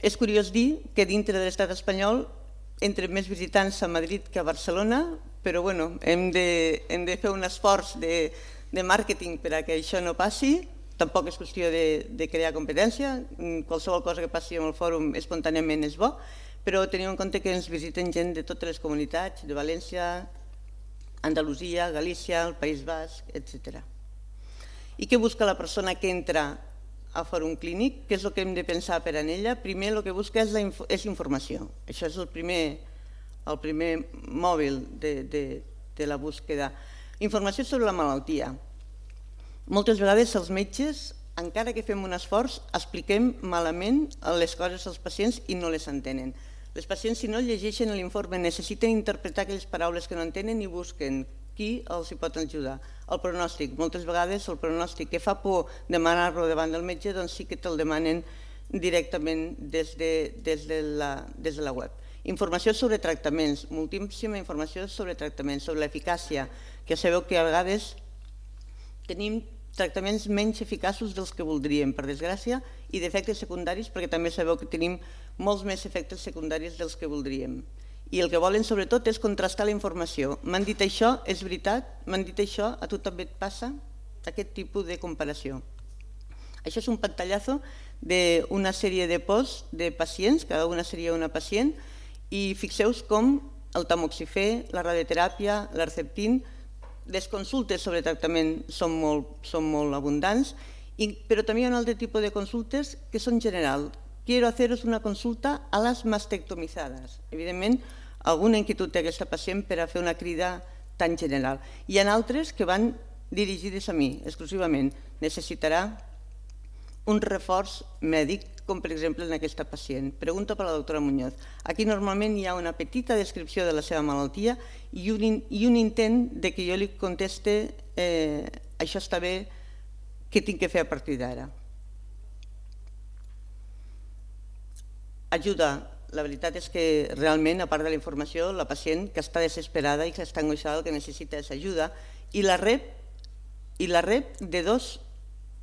És curiós dir que dintre de l'estat espanyol entren més visitants a Madrid que a Barcelona, però bueno, hem de, hem de fer un esforç de, de màrqueting per a que això no passi. Tampoc és qüestió de, de crear competència, qualsevol cosa que passi en el fòrum espontàniament és bo, però teniu en compte que ens visiten gent de totes les comunitats, de València, Andalusia, Galícia, el País Basc, etcètera. I què busca la persona que entra a Fòrum Clínic? Què és el que hem de pensar per en ella? Primer el que busca és, la inf és informació. Això és el primer, el primer mòbil de, de, de la búsqueda. Informació sobre la malaltia. Moltes vegades els metges, encara que fem un esforç, expliquem malament les coses als pacients i no les entenen. Les pacients, si no llegeixen l'informe, necessiten interpretar aquelles paraules que no entenen i busquen qui els hi pot ajudar. El pronòstic, moltes vegades el pronòstic que fa por demanar-lo davant del metge, doncs sí que te'l demanen directament des de, des de, la, des de la web. Informació sobre tractaments, moltíssima informació sobre tractaments, sobre l'eficàcia, que sabeu que a vegades tenim tractaments menys eficaços dels que voldríem, per desgràcia, i d'efectes secundaris, perquè també sabeu que tenim molts més efectes secundaris dels que voldríem. I el que volen sobretot és contrastar la informació. M'han dit això, és veritat? M'han dit això, a tu també et passa? Aquest tipus de comparació. Això és un pantallazo d'una sèrie de posts de pacients, cada una seria una pacient, i fixeu-vos com el tamoxifè, la radioteràpia, l'Herceptin, les consultes sobre tractament són molt, són molt abundants, i, però també hi ha un altre tipus de consultes que són generals. Quiero haceros una consulta a las mastectomizadas. Evidentment, alguna inquietud té aquesta pacient per a fer una crida tan general. Hi ha altres que van dirigides a mi, exclusivament. Necessitarà un reforç mèdic, com per exemple en aquesta pacient. Pregunta per la doctora Muñoz. Aquí normalment hi ha una petita descripció de la seva malaltia i un, i un intent de que jo li conteste eh, això està bé, què tinc que fer a partir d'ara. Ajuda. La veritat és que realment, a part de la informació, la pacient que està desesperada i que està angoixada el que necessita és ajuda i la rep, i la rep de dos,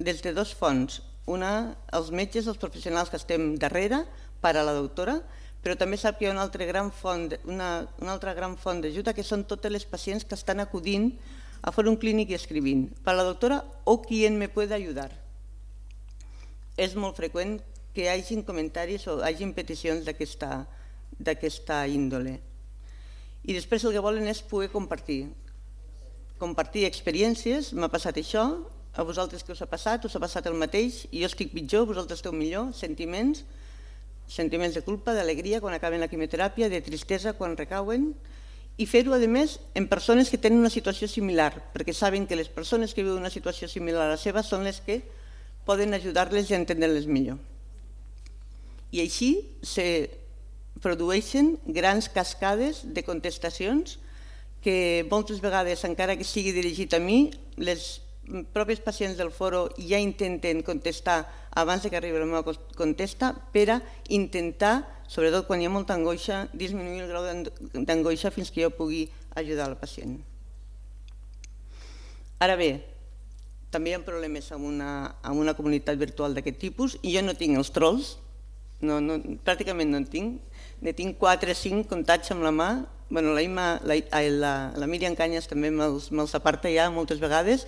des de dos fonts. Una, els metges, els professionals que estem darrere, per a la doctora, però també sap que hi ha una altra gran font, una, una altra gran font d'ajuda que són totes les pacients que estan acudint a Fòrum Clínic i escrivint. Per a la doctora o qui me puede ayudar. És molt freqüent que hi hagin comentaris o hagin peticions d'aquesta índole. I després el que volen és poder compartir. Compartir experiències, m'ha passat això, a vosaltres què us ha passat, us ha passat el mateix, i jo estic pitjor, vosaltres esteu millor, sentiments, sentiments de culpa, d'alegria quan acaben la quimioteràpia, de tristesa quan recauen, i fer-ho, a més, en persones que tenen una situació similar, perquè saben que les persones que viuen una situació similar a la seva són les que poden ajudar-les i entendre-les millor. I així se produeixen grans cascades de contestacions que moltes vegades, encara que sigui dirigit a mi, les propis pacients del foro ja intenten contestar abans que arribi la meva contesta per a intentar, sobretot quan hi ha molta angoixa, disminuir el grau d'angoixa fins que jo pugui ajudar el pacient. Ara bé, també hi ha problemes en una, en una comunitat virtual d'aquest tipus i jo no tinc els trolls, no, no, pràcticament no en tinc, ne tinc quatre o cinc comptats amb la mà. Bueno, la, Ima, la, la, la Míriam Canyes també me'ls me aparta ja moltes vegades.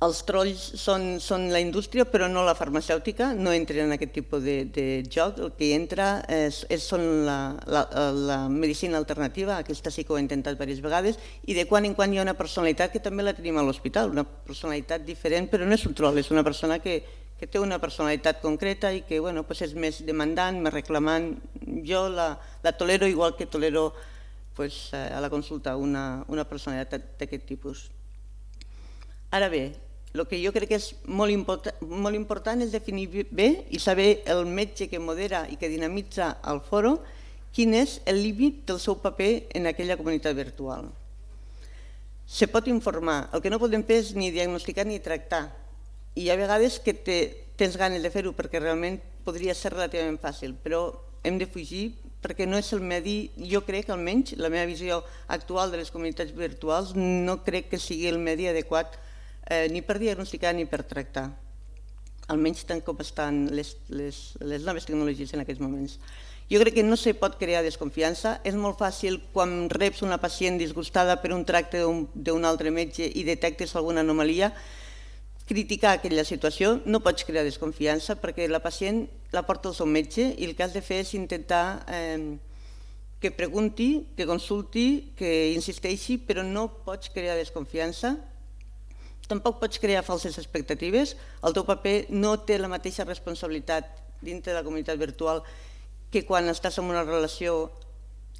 Els trolls són, són la indústria, però no la farmacèutica, no entren en aquest tipus de, de joc. El que entra és, és són la, la, la medicina alternativa, aquesta sí que ho he intentat diverses vegades, i de quan en quan hi ha una personalitat que també la tenim a l'hospital, una personalitat diferent, però no és un troll, és una persona que, que té una personalitat concreta i que bueno, pues és més demandant, més reclamant. Jo la, la tolero igual que tolero pues, a la consulta una, una personalitat d'aquest tipus. Ara bé, el que jo crec que és molt important, molt important és definir bé i saber el metge que modera i que dinamitza el foro quin és el límit del seu paper en aquella comunitat virtual. Se pot informar, el que no podem fer és ni diagnosticar ni tractar. I hi ha vegades que tens ganes de fer-ho perquè realment podria ser relativament fàcil, però hem de fugir perquè no és el medi, jo crec, almenys la meva visió actual de les comunitats virtuals, no crec que sigui el medi adequat ni per diagnosticar ni per tractar, almenys tant com estan les noves tecnologies en aquests moments. Jo crec que no se pot crear desconfiança. És molt fàcil quan reps una pacient disgustada per un tracte d'un altre metge i detectes alguna anomalia, criticar aquella situació. No pots crear desconfiança perquè la pacient la porta al seu metge i el que has de fer és intentar que pregunti, que consulti, que insisteixi, però no pots crear desconfiança. Tampoc pots crear falses expectatives. El teu paper no té la mateixa responsabilitat dintre de la comunitat virtual que quan estàs en una relació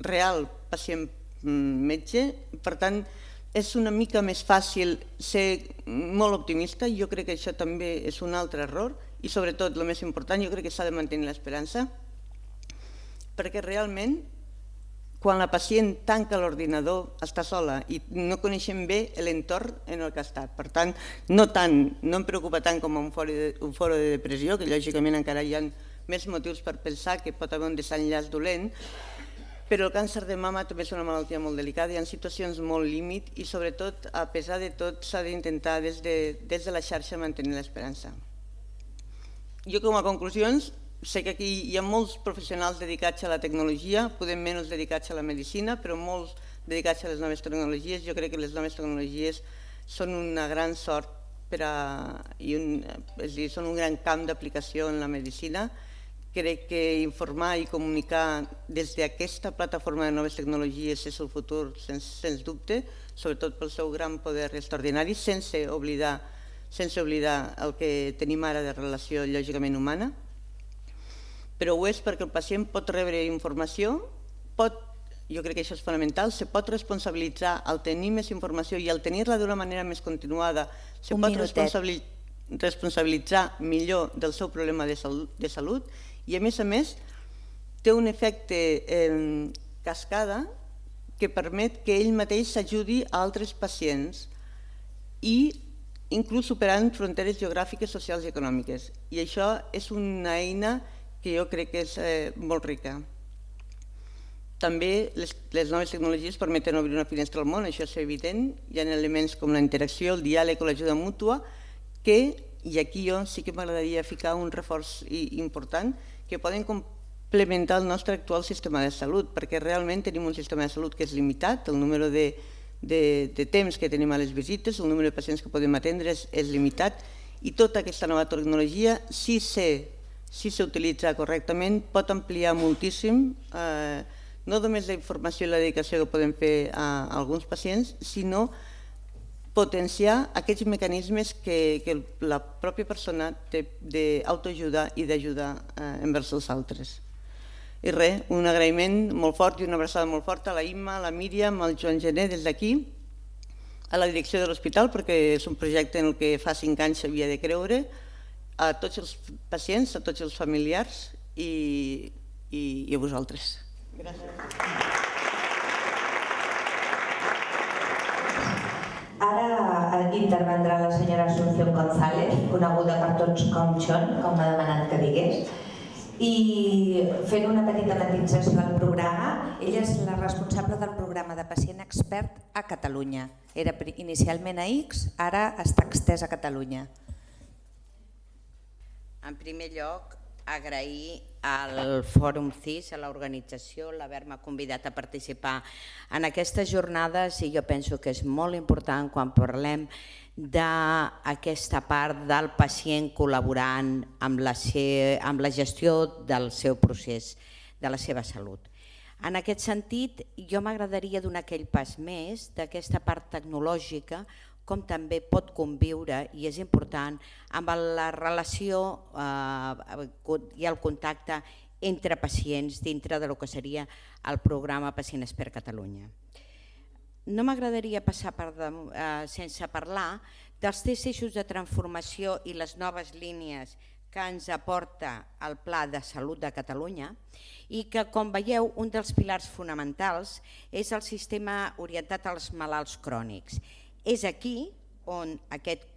real pacient-metge. Per tant, és una mica més fàcil ser molt optimista. Jo crec que això també és un altre error i sobretot, el més important, jo crec que s'ha de mantenir l'esperança perquè realment quan la pacient tanca l'ordinador està sola i no coneixem bé l'entorn en el que ha estat. Per tant, no em preocupa tant com un foro de depressió, que lògicament encara hi ha més motius per pensar que pot haver un desenllaç dolent, però el càncer de mama també és una malaltia molt delicada, hi ha situacions molt límit i sobretot, a pesar de tot, s'ha d'intentar des de la xarxa mantenir l'esperança. Jo com a conclusions, sé que aquí hi ha molts professionals dedicats a la tecnologia, podem menys dedicats a la medicina, però molts dedicats a les noves tecnologies. Jo crec que les noves tecnologies són una gran sort i són un gran camp d'aplicació en la medicina. Crec que informar i comunicar des d'aquesta plataforma de noves tecnologies és el futur, sens dubte, sobretot pel seu gran poder extraordinari, sense oblidar el que tenim ara de relació lògicament humana. Però ho és perquè el pacient pot rebre informació, jo crec que això és fonamental, se pot responsabilitzar al tenir més informació i al tenir-la d'una manera més continuada, se pot responsabilitzar millor del seu problema de salut i a més a més té un efecte cascada que permet que ell mateix s'ajudi a altres pacients i inclús superant fronteres geogràfiques, socials i econòmiques. I això és una eina que jo crec que és molt rica. També les noves tecnologies permeten obrir una finestra al món, això és evident. Hi ha elements com la interacció, el diàleg o l'ajuda mútua que, i aquí jo sí que m'agradaria ficar un reforç important, que poden complementar el nostre actual sistema de salut, perquè realment tenim un sistema de salut que és limitat, el número de temps que tenim a les visites, el número de pacients que podem atendre és limitat i tota aquesta nova tecnologia, si s'utilitza correctament, pot ampliar moltíssim no només la informació i la dedicació que podem fer a alguns pacients, sinó potenciar aquests mecanismes que la pròpia persona té d'autoajuda i d'ajudar envers els altres. I res, un agraïment molt fort i una abraçada molt forta a la Imma, a la Míriam, al Joan Gené des d'aquí, a la direcció de l'hospital, perquè és un projecte en què fa cinc anys s'havia de creure, a tots els pacients, a tots els familiars i a vosaltres. Gràcies. Ara intervendrà la senyora Asunción González, coneguda per tots com Chon, com m'ha demanat que digués, i fent una petita matisació al programa. Ella és la responsable del programa de pacient expert a Catalunya. Era inicialment a X, ara està extès a Catalunya. En primer lloc, agrair al Fòrum C I S, a l'organització, l'haver-me convidat a participar en aquestes jornades i jo penso que és molt important quan parlem d'aquesta part del pacient col·laborant amb la gestió del seu procés, de la seva salut. En aquest sentit, jo m'agradaria donar aquell pas més d'aquesta part tecnològica com també pot conviure, i és important, amb la relació i el contacte entre pacients dintre del que seria el programa Pacient Expert Catalunya. No m'agradaria passar sense parlar dels tres eixos de transformació i les noves línies que ens aporta el Pla de Salut de Catalunya i que, com veieu, un dels pilars fonamentals és el sistema orientat als malalts crònics. És aquí on aquest,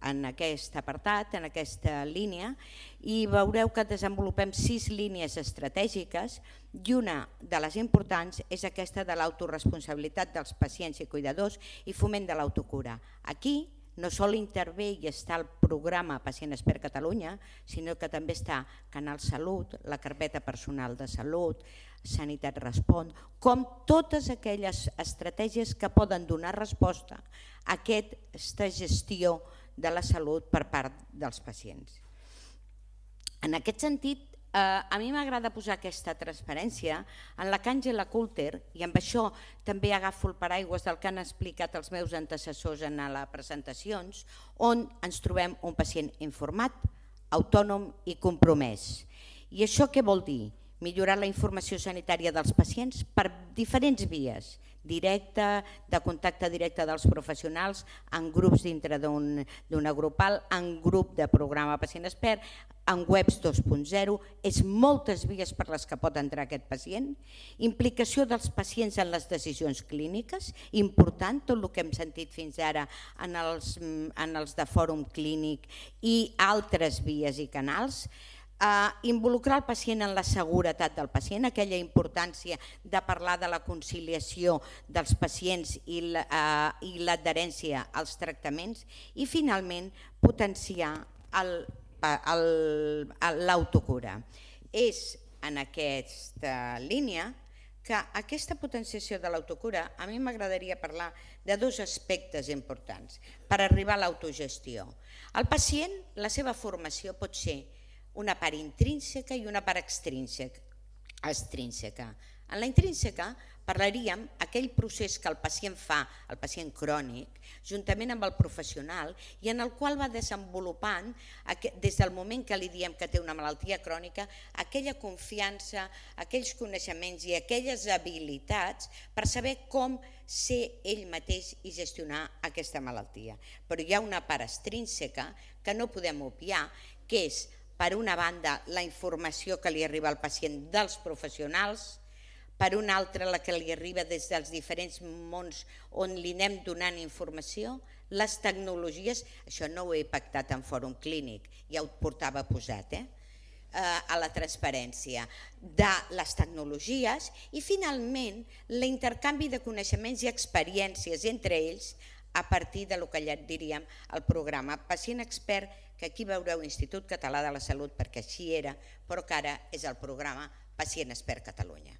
en aquest apartat, en aquesta línia, i veureu que desenvolupem sis línies estratègiques i una de les importants és aquesta de l'autoresponsabilitat dels pacients i cuidadors i foment de l'autocura. Aquí no sol intervé i està el programa Pacient Expert Catalunya, sinó que també està Canal Salut, la carpeta personal de salut, Sanitat Respon, com totes aquelles estratègies que poden donar resposta a aquesta gestió de la salut per part dels pacients. En aquest sentit, a mi m'agrada posar aquesta transparència en la que Àngela Coulter, i amb això també agafo el paraigües del que han explicat els meus antecessors en les presentacions, on ens trobem un pacient informat, autònom i compromès. I això què vol dir? Millorar la informació sanitària dels pacients per diferents vies, directa, de contacte directe dels professionals, en grups dintre d'una grupal, en grup de programa Pacient Expert, en webs dos punt zero, és moltes vies per les que pot entrar aquest pacient, implicació dels pacients en les decisions clíniques, important tot el que hem sentit fins ara en els, en els de fòrum clínic i altres vies i canals, Uh, involucrar el pacient en la seguretat del pacient, aquella importància de parlar de la conciliació dels pacients i l'adherència uh, als tractaments i finalment potenciar l'autocura. És en aquesta línia que aquesta potenciació de l'autocura a mi m'agradaria parlar de dos aspectes importants per arribar a l'autogestió. El pacient, la seva formació pot ser una part intrínseca i una part extrínseca. En la intrínseca parlaríem aquell procés que el pacient fa, el pacient crònic, juntament amb el professional i en el qual va desenvolupant, des del moment que li diem que té una malaltia crònica, aquella confiança, aquells coneixements i aquelles habilitats per saber com ser ell mateix i gestionar aquesta malaltia. Però hi ha una part extrínseca que no podem obviar, que és per una banda, la informació que li arriba al pacient dels professionals, per una altra, la que li arriba des dels diferents mons on li anem donant informació, les tecnologies, això no ho he pactat en fòrum clínic, ja ho portava posat, eh? a la transparència de les tecnologies i finalment l'intercanvi de coneixements i experiències entre ells a partir del que ja diríem el programa Pacient Expert, que aquí veureu Institut Català de la Salut perquè així era, però que ara és el programa Pacient Expert Catalunya.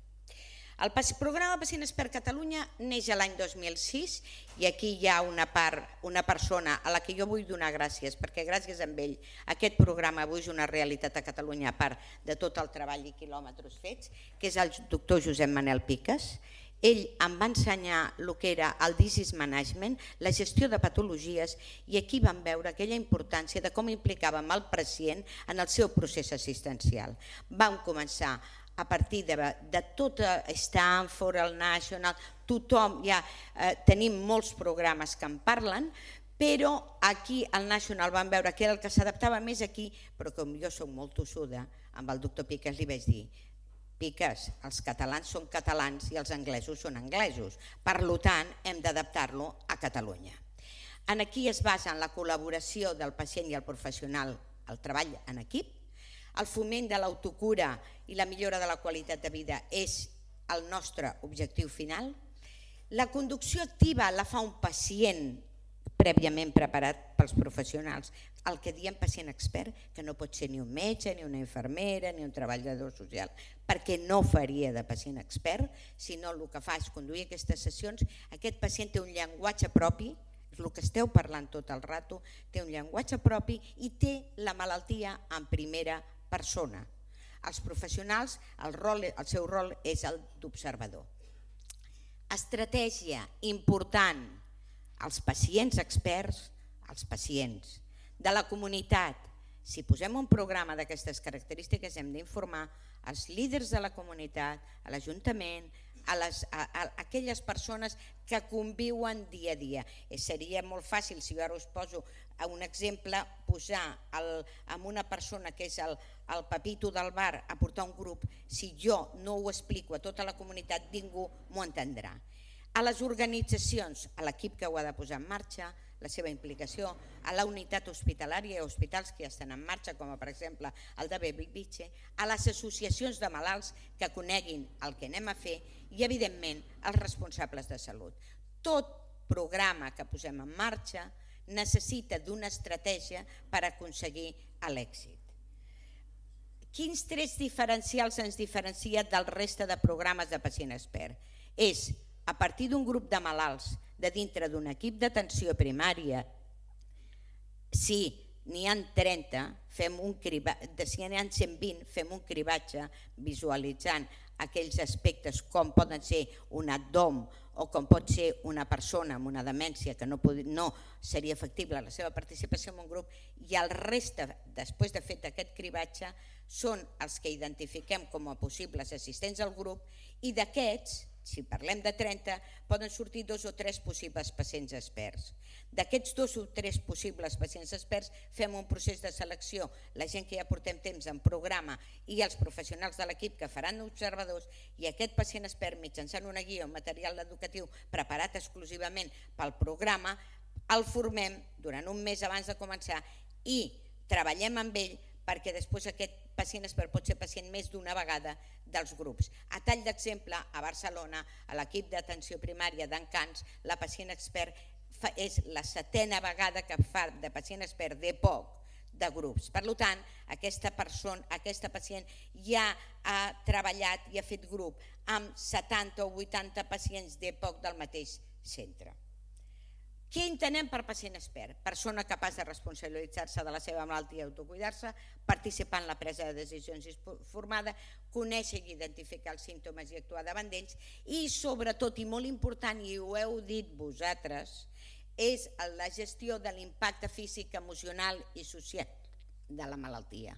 El programa Pacient Expert Catalunya neix l'any dos mil sis i aquí hi ha una part, una persona a la que jo vull donar gràcies perquè gràcies a ell aquest programa avui és una realitat a Catalunya a part de tot el treball i quilòmetres fets, que és el doctor Josep Manel Piques. Ell em va ensenyar el que era el disease management, la gestió de patologies i aquí vam veure aquella importància de com implicàvem el pacient en el seu procés assistencial. Vam començar a partir de, de tot Stanford, el National, tothom, ja eh, tenim molts programes que en parlen, però aquí al National vam veure que era el que s'adaptava més aquí, però com jo soc molt tossuda, amb el doctor Piques li vaig dir Piques, els catalans són catalans i els anglesos són anglesos, per tant hem d'adaptar-lo a Catalunya. Aquí es basa en la col·laboració del pacient i el professional, el treball en equip, el foment de l'autocura i la millora de la qualitat de vida és el nostre objectiu final. La conducció activa la fa un pacient prèviament preparat pels professionals, el que diem pacient expert, que no pot ser ni un metge, ni una infermera, ni un treballador social, perquè no faria de pacient expert, sinó el que fa és conduir aquestes sessions. Aquest pacient té un llenguatge propi, és el que esteu parlant tot el rato, té un llenguatge propi i té la malaltia en primera persona. Els professionals, el, rol, el seu rol és el d'observador. Estratègia important, els pacients experts, els pacients de la comunitat. Si posem un programa d'aquestes característiques hem d'informar els líders de la comunitat, a l'Ajuntament, a, les, a, a aquelles persones que conviuen dia a dia. Eh, seria molt fàcil, si jo ara us poso un exemple, posar el, amb una persona que és el, el Pepito del bar a portar un grup. Si jo no ho explico a tota la comunitat, ningú m'ho entendrà. A les organitzacions, a l'equip que ho ha de posar en marxa, la seva implicació, a la unitat hospitalària i hospitals que ja estan en marxa, com per exemple el de Bellvitge, a les associacions de malalts que coneguin el que anem a fer i, evidentment, als responsables de salut. Tot programa que posem en marxa necessita d'una estratègia per aconseguir l'èxit. Quins trets diferencials ens diferencia del reste de programes de pacient expert? És, a partir d'un grup de malalts de dintre d'un equip d'atenció primària, si n'hi ha trenta, fem un cribatge, si n'hi ha cent vint, fem un cribatge visualitzant aquells aspectes com poden ser un D O M o com pot ser una persona amb una demència que no, no seria factible la seva participació en un grup, i el reste, després de fet aquest cribatge, són els que identifiquem com a possibles assistents al grup, i d'aquests, si parlem de trenta, poden sortir dos o tres possibles pacients experts. D'aquests dos o tres possibles pacients experts fem un procés de selecció, la gent que ja portem temps en programa i els professionals de l'equip que faran observadors, i aquest pacient expert, mitjançant una guia o material educatiu preparat exclusivament pel programa, el formem durant un mes abans de començar i treballem amb ell perquè després aquest pacient expert pot ser pacient més d'una vegada dels grups. A tall d'exemple, a Barcelona, a l'equip d'atenció primària d'Encants, la pacient expert és la setena vegada que fa de pacient expert de poc de grups. Per tant, aquesta persona, aquesta pacient ja ha treballat i ha fet grup amb setanta o vuitanta pacients de poc del mateix centre. Què entenem per pacient expert? Persona capaç de responsabilitzar-se de la seva malaltia i autocuidar-se, participar en la presa de decisions informada, conèixer i identificar els símptomes i actuar davant d'ells, i sobretot, i molt important, i ho heu dit vosaltres, és la gestió de l'impacte físic, emocional i social de la malaltia.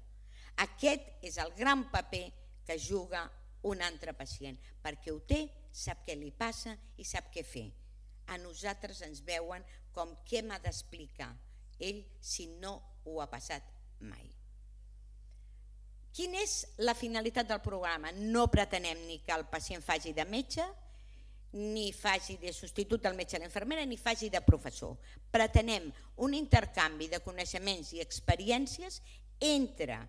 Aquest és el gran paper que juga un altre pacient, perquè ho té, sap què li passa i sap què fer. A nosaltres ens veuen com què m'ha d'explicar ell si no ho ha passat mai. Quina és la finalitat del programa? No pretenem ni que el pacient faci de metge, ni faci de substitut del metge a l'infermera, ni faci de professor. Pretenem un intercanvi de coneixements i experiències entre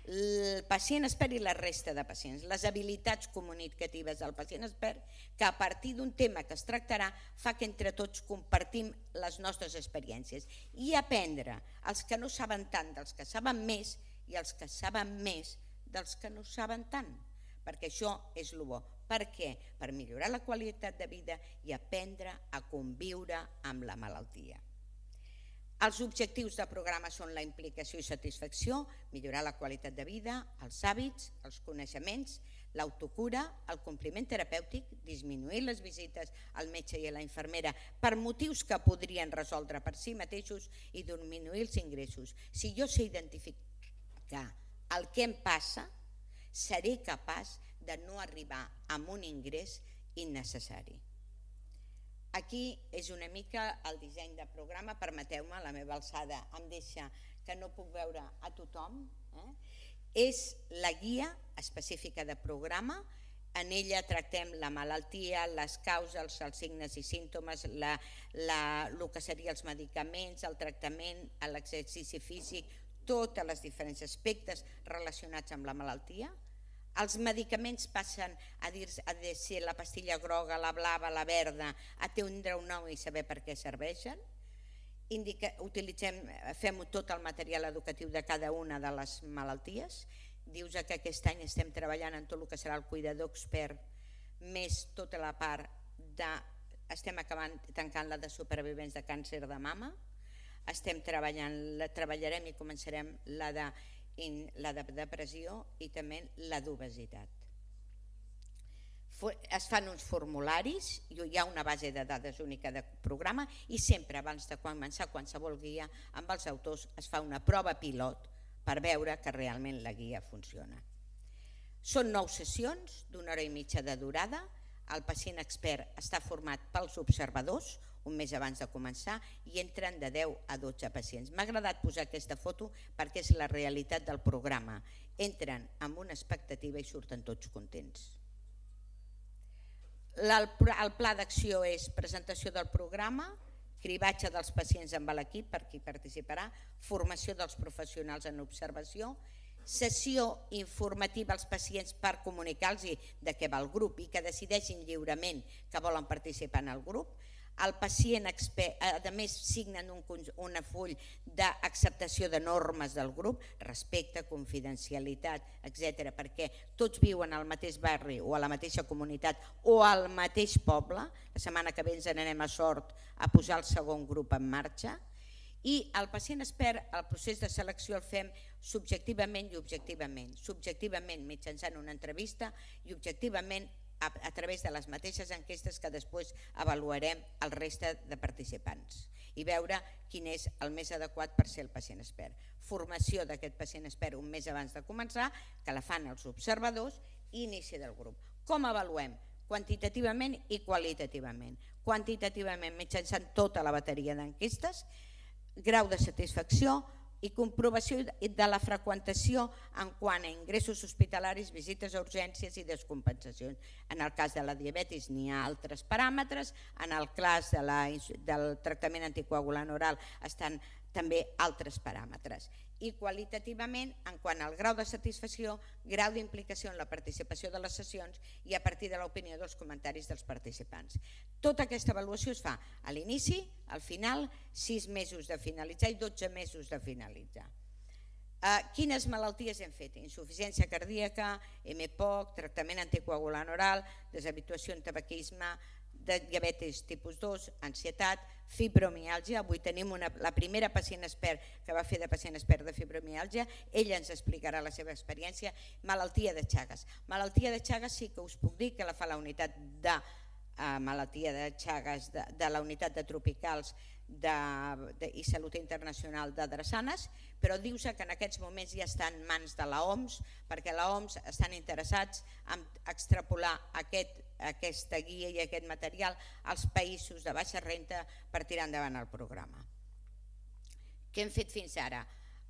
el pacient expert i la resta de pacients, les habilitats comunicatives del pacient expert, que a partir d'un tema que es tractarà fa que entre tots compartim les nostres experiències i aprendre els que no saben tant dels que saben més i els que saben més dels que no saben tant, perquè això és el bo. Per què? Per millorar la qualitat de vida i aprendre a conviure amb la malaltia. Els objectius del programa són la implicació i satisfacció, millorar la qualitat de vida, els hàbits, els coneixements, l'autocura, el compliment terapèutic, disminuir les visites al metge i a la infermera per motius que podrien resoldre per si mateixos i disminuir els ingressos. Si jo sé identificar el que em passa, seré capaç de no arribar a un ingrés innecessari. Aquí és una mica el disseny de programa, permeteu-me, la meva alçada em deixa que no puc veure a tothom. És la guia específica de programa, en ella tractem la malaltia, les causes, els signes i símptomes, el que serien els medicaments, el tractament, l'exercici físic, tots els diferents aspectes relacionats amb la malaltia. Els medicaments passen a ser la pastilla groga, la blava, la verda, a tindre un nom i saber per què serveixen. Fem tot el material educatiu de cada una de les malalties. Dius que aquest any estem treballant en tot el que serà el cuidador expert, més tota la part de... Estem acabant tancant la de supervivents de càncer de mama. Estem treballant, treballarem i començarem la de... la de depressió i també la d'obesitat. Es fan uns formularis, hi ha una base de dades única de programa i sempre abans de començar qualsevol guia amb els autors es fa una prova pilot per veure que realment la guia funciona. Són nou sessions d'una hora i mitja de durada. el pacient expert està format pels observadors, un mes abans de començar, i entren de deu a dotze pacients. M'ha agradat posar aquesta foto perquè és la realitat del programa. Entren amb una expectativa i surten tots contents. El pla d'acció és presentació del programa, cribatge dels pacients amb l'equip per qui participarà, formació dels professionals en observació, sessió informativa als pacients per comunicar-los de què va el grup i que decideixin lliurement que volen participar en el grup. El pacient expert, a més, signen un full d'acceptació de normes del grup, respecte, confidencialitat, etcètera, perquè tots viuen al mateix barri o a la mateixa comunitat o al mateix poble. La setmana que ve ens n'anem a Sort a posar el segon grup en marxa. I el pacient expert, el procés de selecció el fem subjectivament i objectivament. Subjectivament mitjançant una entrevista i objectivament a través de les mateixes enquestes que després avaluarem el reste de participants i veure quin és el més adequat per ser el pacient expert. Formació d'aquest pacient expert un mes abans de començar, que la fan els observadors, i inici del grup. Com avaluem? Quantitativament i qualitativament. Quantitativament mitjançant tota la bateria d'enquestes, grau de satisfacció i comprovació de la freqüentació en quant a ingressos hospitalaris, visites a urgències i descompensacions. En el cas de la diabetis n'hi ha altres paràmetres, en el cas del tractament anticoagulant oral estan també altres paràmetres. I qualitativament, en quant al grau de satisfacció, grau d'implicació en la participació de les sessions i a partir de l'opinió dels comentaris dels participants. Tota aquesta avaluació es fa a l'inici, al final, sis mesos de finalitzar i dotze mesos de finalitzar. Quines malalties hem fet? Insuficiència cardíaca, M P O C, tractament anticoagulant oral, deshabituació en tabaquisme, de diabetis tipus dos, ansietat, fibromiàlgia. Avui tenim la primera pacient expert que va fer de pacient expert de fibromiàlgia. Ella ens explicarà la seva experiència. Malaltia de Chagas. Malaltia de Chagas sí que us puc dir que la fa la unitat de malaltia de Chagas de la unitat de tropicals i salut internacional de Drassanes, però diu-se que en aquests moments ja està en mans de l'O M S, perquè l'O M S estan interessats en extrapolar aquesta guia i aquest material als països de baixa renda per tirar endavant el programa. Què hem fet fins ara?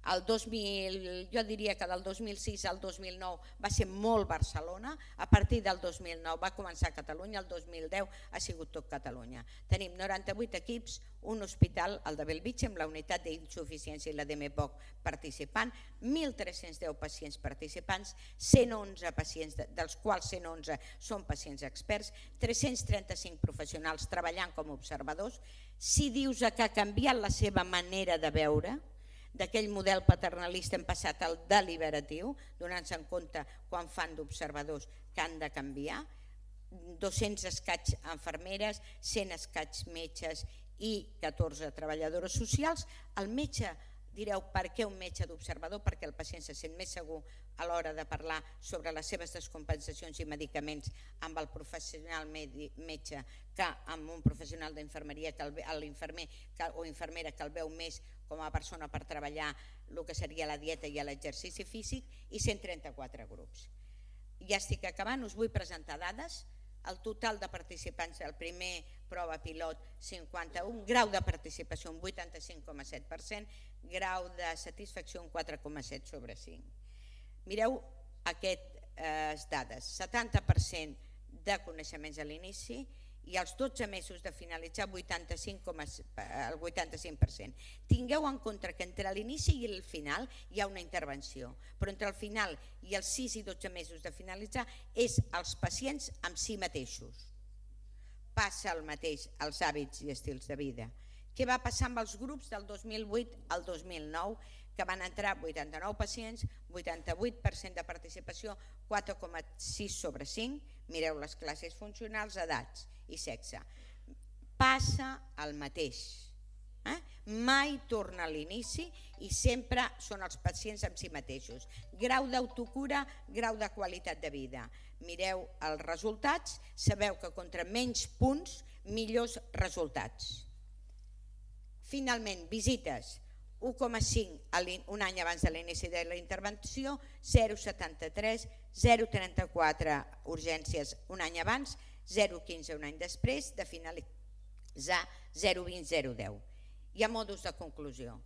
Jo diria que del dos mil sis al dos mil nou va ser molt Barcelona, a partir del dos mil nou va començar a Catalunya, el dos mil deu ha sigut tot Catalunya. Tenim noranta-vuit equips, un hospital, el de Bellvitge, amb la unitat d'insuficiència i la d'M P O C participant, mil tres-cents deu pacients participants, cent onze pacients, dels quals cent onze són pacients experts, tres-cents trenta-cinc professionals treballant com a observadors. Si dius que ha canviat la seva manera de veure, d'aquell model paternalista hem passat al deliberatiu, donant-se en compte quan fan d'observadors que han de canviar, dos-cents escaig infermeres, cent escaig metges i catorze treballadores socials. El metge, direu, per què un metge d'observador? Perquè el pacient se sent més segur a l'hora de parlar sobre les seves descompensacions i medicaments amb el professional metge que amb un professional d'infermeria, l'infermer o infermera que el veu més com a persona per treballar el que seria la dieta i l'exercici físic, i cent trenta-quatre grups. Ja estic acabant, us vull presentar dades. El total de participants del primer prova pilot, cinquanta-un, grau de participació un vuitanta-cinc coma set per cent, grau de satisfacció un quatre coma set sobre cinc. Mireu aquestes dades, setanta per cent de coneixements a l'inici i als dotze mesos de finalitzar el vuitanta-cinc per cent. Tingueu en compte que entre l'inici i el final hi ha una intervenció, però entre el final i els sis i dotze mesos de finalitzar és els pacients amb si mateixos. Passa el mateix als hàbits i estils de vida. Què va passar amb els grups del dos mil vuit al dos mil nou? Que van entrar vuitanta-nou pacients, vuitanta-vuit per cent de participació, quatre coma sis sobre cinc, mireu les classes funcionals, edats i sexe. Passa el mateix. Mai torna a l'inici i sempre són els pacients amb si mateixos. Grau d'autocura, grau de qualitat de vida. Mireu els resultats, sabeu que contra menys punts, millors resultats. Finalment, visites. un coma cinc un any abans de l'inici de la intervenció, zero coma setanta-tres, zero coma trenta-quatre urgències un any abans, zero coma quinze un any després de finalitzar zero coma vint zero deu. Hi ha modus de conclusió.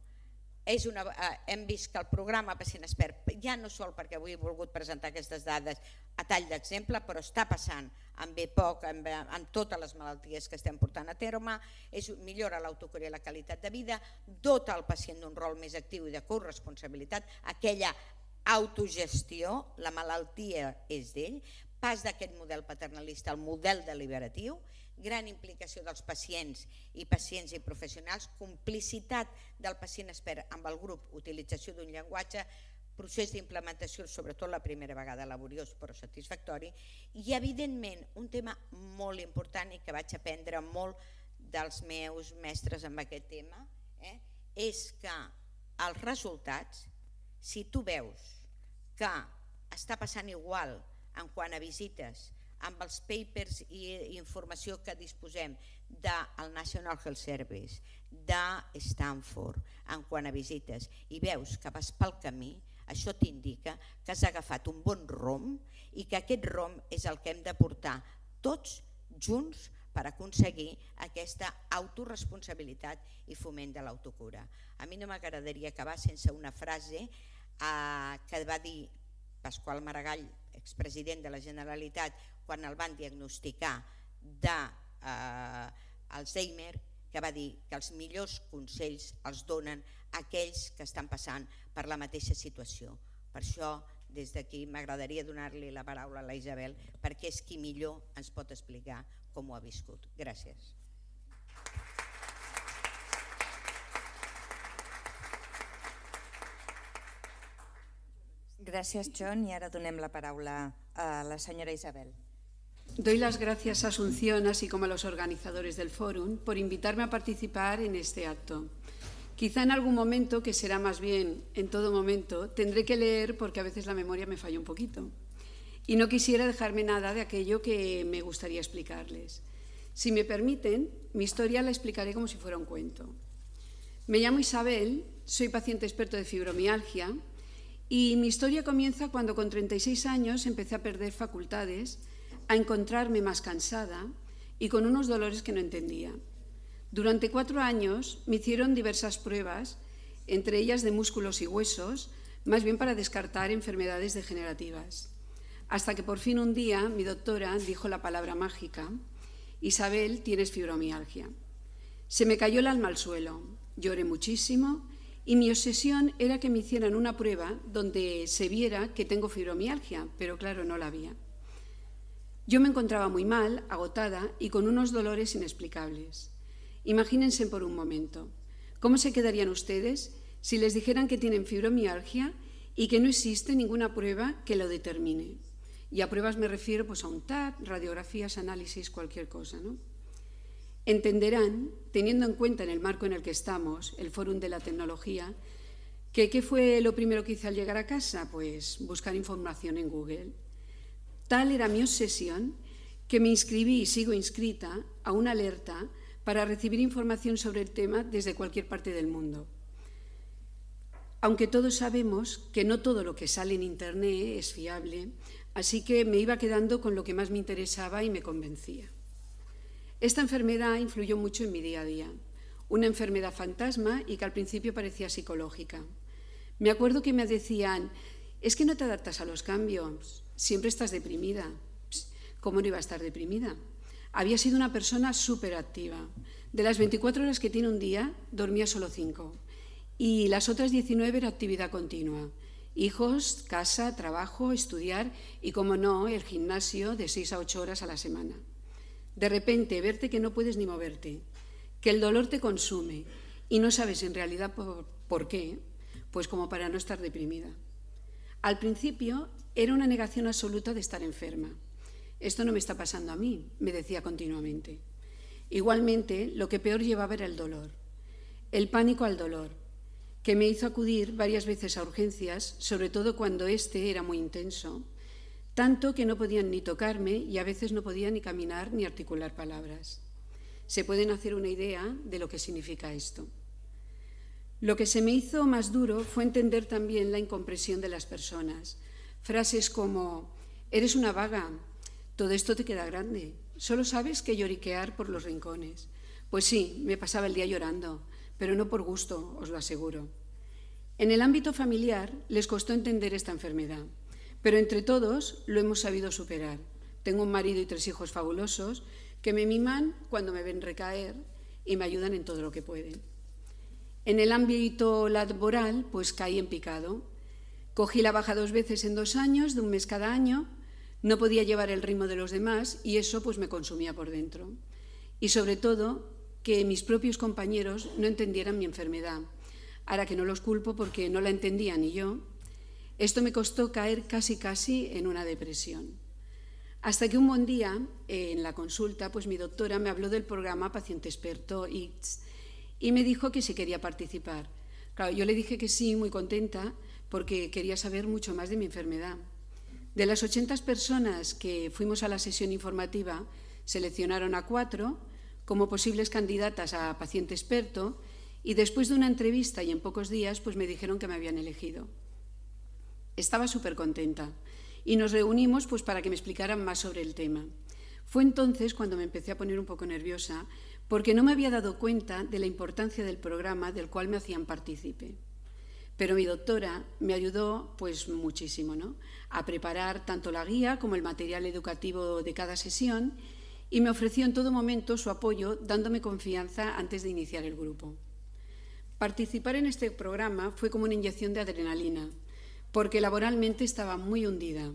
És una, eh, hem vist que el programa Pacient Expert, ja no sol perquè avui he volgut presentar aquestes dades a tall d'exemple, però està passant amb B P O C, amb, amb totes les malalties que estem portant a terme, és, millora l'autocura i la qualitat de vida, dota el pacient d'un rol més actiu i de corresponsabilitat, aquella autogestió, la malaltia és d'ell, pas d'aquest model paternalista al model deliberatiu, gran implicació dels pacients i pacients i professionals, complicitat del pacient expert amb el grup, utilització d'un llenguatge, procés d'implementació, sobretot la primera vegada laboriós però satisfactori, i evidentment un tema molt important i que vaig aprendre molt dels meus mestres amb aquest tema, eh, és que els resultats, si tu veus que està passant igual en quant a visites, amb els papers i informació que disposem del National Health Service, de Stanford, en quant a visites, i veus que vas pel camí, això t'indica que has agafat un bon rom i que aquest rom és el que hem de portar tots junts per aconseguir aquesta autoresponsabilitat i foment de l'autocura. A mi no m'agradaria acabar sense una frase eh, que va dir Pasqual Maragall, expresident de la Generalitat, quan el van diagnosticar d'Alzheimer, que va dir que els millors consells els donen aquells que estan passant per la mateixa situació. Per això, des d'aquí, m'agradaria donar-li la paraula a la Isabel, perquè és qui millor ens pot explicar com ho ha viscut. Gràcies. Gràcies, John, i ara donem la paraula a la senyora Isabel. Doy las gracias a Asunción, así como a los organizadores del Fórum, por invitarme a participar en este acto. Quizá en algún momento, que será más bien en todo momento, tendré que leer porque a veces la memoria me falla un poquito. Y no quisiera dejarme nada de aquello que me gustaría explicarles. Si me permiten, mi historia la explicaré como si fuera un cuento. Me llamo Isabel, soy paciente experto de fibromialgia y mi historia comienza cuando con treinta y seis años empecé a perder facultades, a encontrarme más cansada y con unos dolores que no entendía. Durante cuatro años me hicieron diversas pruebas, entre ellas de músculos y huesos, más bien para descartar enfermedades degenerativas. Hasta que por fin un día mi doctora dijo la palabra mágica: Isabel, tienes fibromialgia. Se me cayó el alma al suelo, lloré muchísimo y mi obsesión era que me hicieran una prueba donde se viera que tengo fibromialgia, pero claro, no la había. Yo me encontraba muy mal, agotada y con unos dolores inexplicables. Imagínense por un momento, ¿cómo se quedarían ustedes si les dijeran que tienen fibromialgia y que no existe ninguna prueba que lo determine? Y a pruebas me refiero pues, a un T A C, radiografías, análisis, cualquier cosa, ¿no? Entenderán, teniendo en cuenta en el marco en el que estamos, el Fórum de la Tecnología, que ¿qué fue lo primero que hice al llegar a casa? Pues buscar información en Google. Tal era mi obsesión que me inscribí y sigo inscrita a una alerta para recibir información sobre el tema desde cualquier parte del mundo. Aunque todos sabemos que no todo lo que sale en Internet es fiable, así que me iba quedando con lo que más me interesaba y me convencía. Esta enfermedad influyó mucho en mi día a día, una enfermedad fantasma y que al principio parecía psicológica. Me acuerdo que me decían: es que no te adaptas a los cambios, siempre estás deprimida. ¿Cómo no iba a estar deprimida? Había sido una persona súper activa. De las veinticuatro horas que tiene un día, dormía solo cinco. Y las otras diecinueve era actividad continua. Hijos, casa, trabajo, estudiar y, como no, el gimnasio de seis a ocho horas a la semana. De repente, verte que no puedes ni moverte, que el dolor te consume y no sabes en realidad por, por qué, pues como para no estar deprimida. Al principio era una negación absoluta de estar enferma. Esto no me está pasando a mí, me decía continuamente. Igualmente, lo que peor llevaba era el dolor, el pánico al dolor, que me hizo acudir varias veces a urgencias, sobre todo cuando este era muy intenso, tanto que no podían ni tocarme y a veces no podía ni caminar ni articular palabras. Se pueden hacer una idea de lo que significa esto. Lo que se me hizo más duro fue entender también la incomprensión de las personas. Frases como: eres una vaga, todo esto te queda grande, solo sabes que lloriquear por los rincones. Pues sí, me pasaba el día llorando, pero no por gusto, os lo aseguro. En el ámbito familiar les costó entender esta enfermedad, pero entre todos lo hemos sabido superar. Tengo un marido y tres hijos fabulosos que me miman cuando me ven recaer y me ayudan en todo lo que pueden. En el ámbito laboral, pues caí en picado. Cogí la baja dos veces en dos años, de un mes cada año. No podía llevar el ritmo de los demás y eso pues me consumía por dentro. Y sobre todo, que mis propios compañeros no entendieran mi enfermedad. Ahora que no los culpo porque no la entendía ni yo, esto me costó caer casi casi en una depresión. Hasta que un buen día, en la consulta, pues mi doctora me habló del programa Paciente Experto I C S y me dijo que si quería participar. Claro, yo le dije que sí, muy contenta, porque quería saber mucho más de mi enfermedad. De las ochenta personas que fuimos a la sesión informativa, seleccionaron a cuatro como posibles candidatas a paciente experto y después de una entrevista y en pocos días pues me dijeron que me habían elegido. Estaba súper contenta y nos reunimos pues para que me explicaran más sobre el tema. Fue entonces cuando me empecé a poner un poco nerviosa porque no me había dado cuenta de la importancia del programa del cual me hacían partícipe. Pero mi doctora me ayudó pues muchísimo, ¿no?, a preparar tanto la guía como el material educativo de cada sesión y me ofreció en todo momento su apoyo dándome confianza antes de iniciar el grupo. Participar en este programa fue como una inyección de adrenalina porque laboralmente estaba muy hundida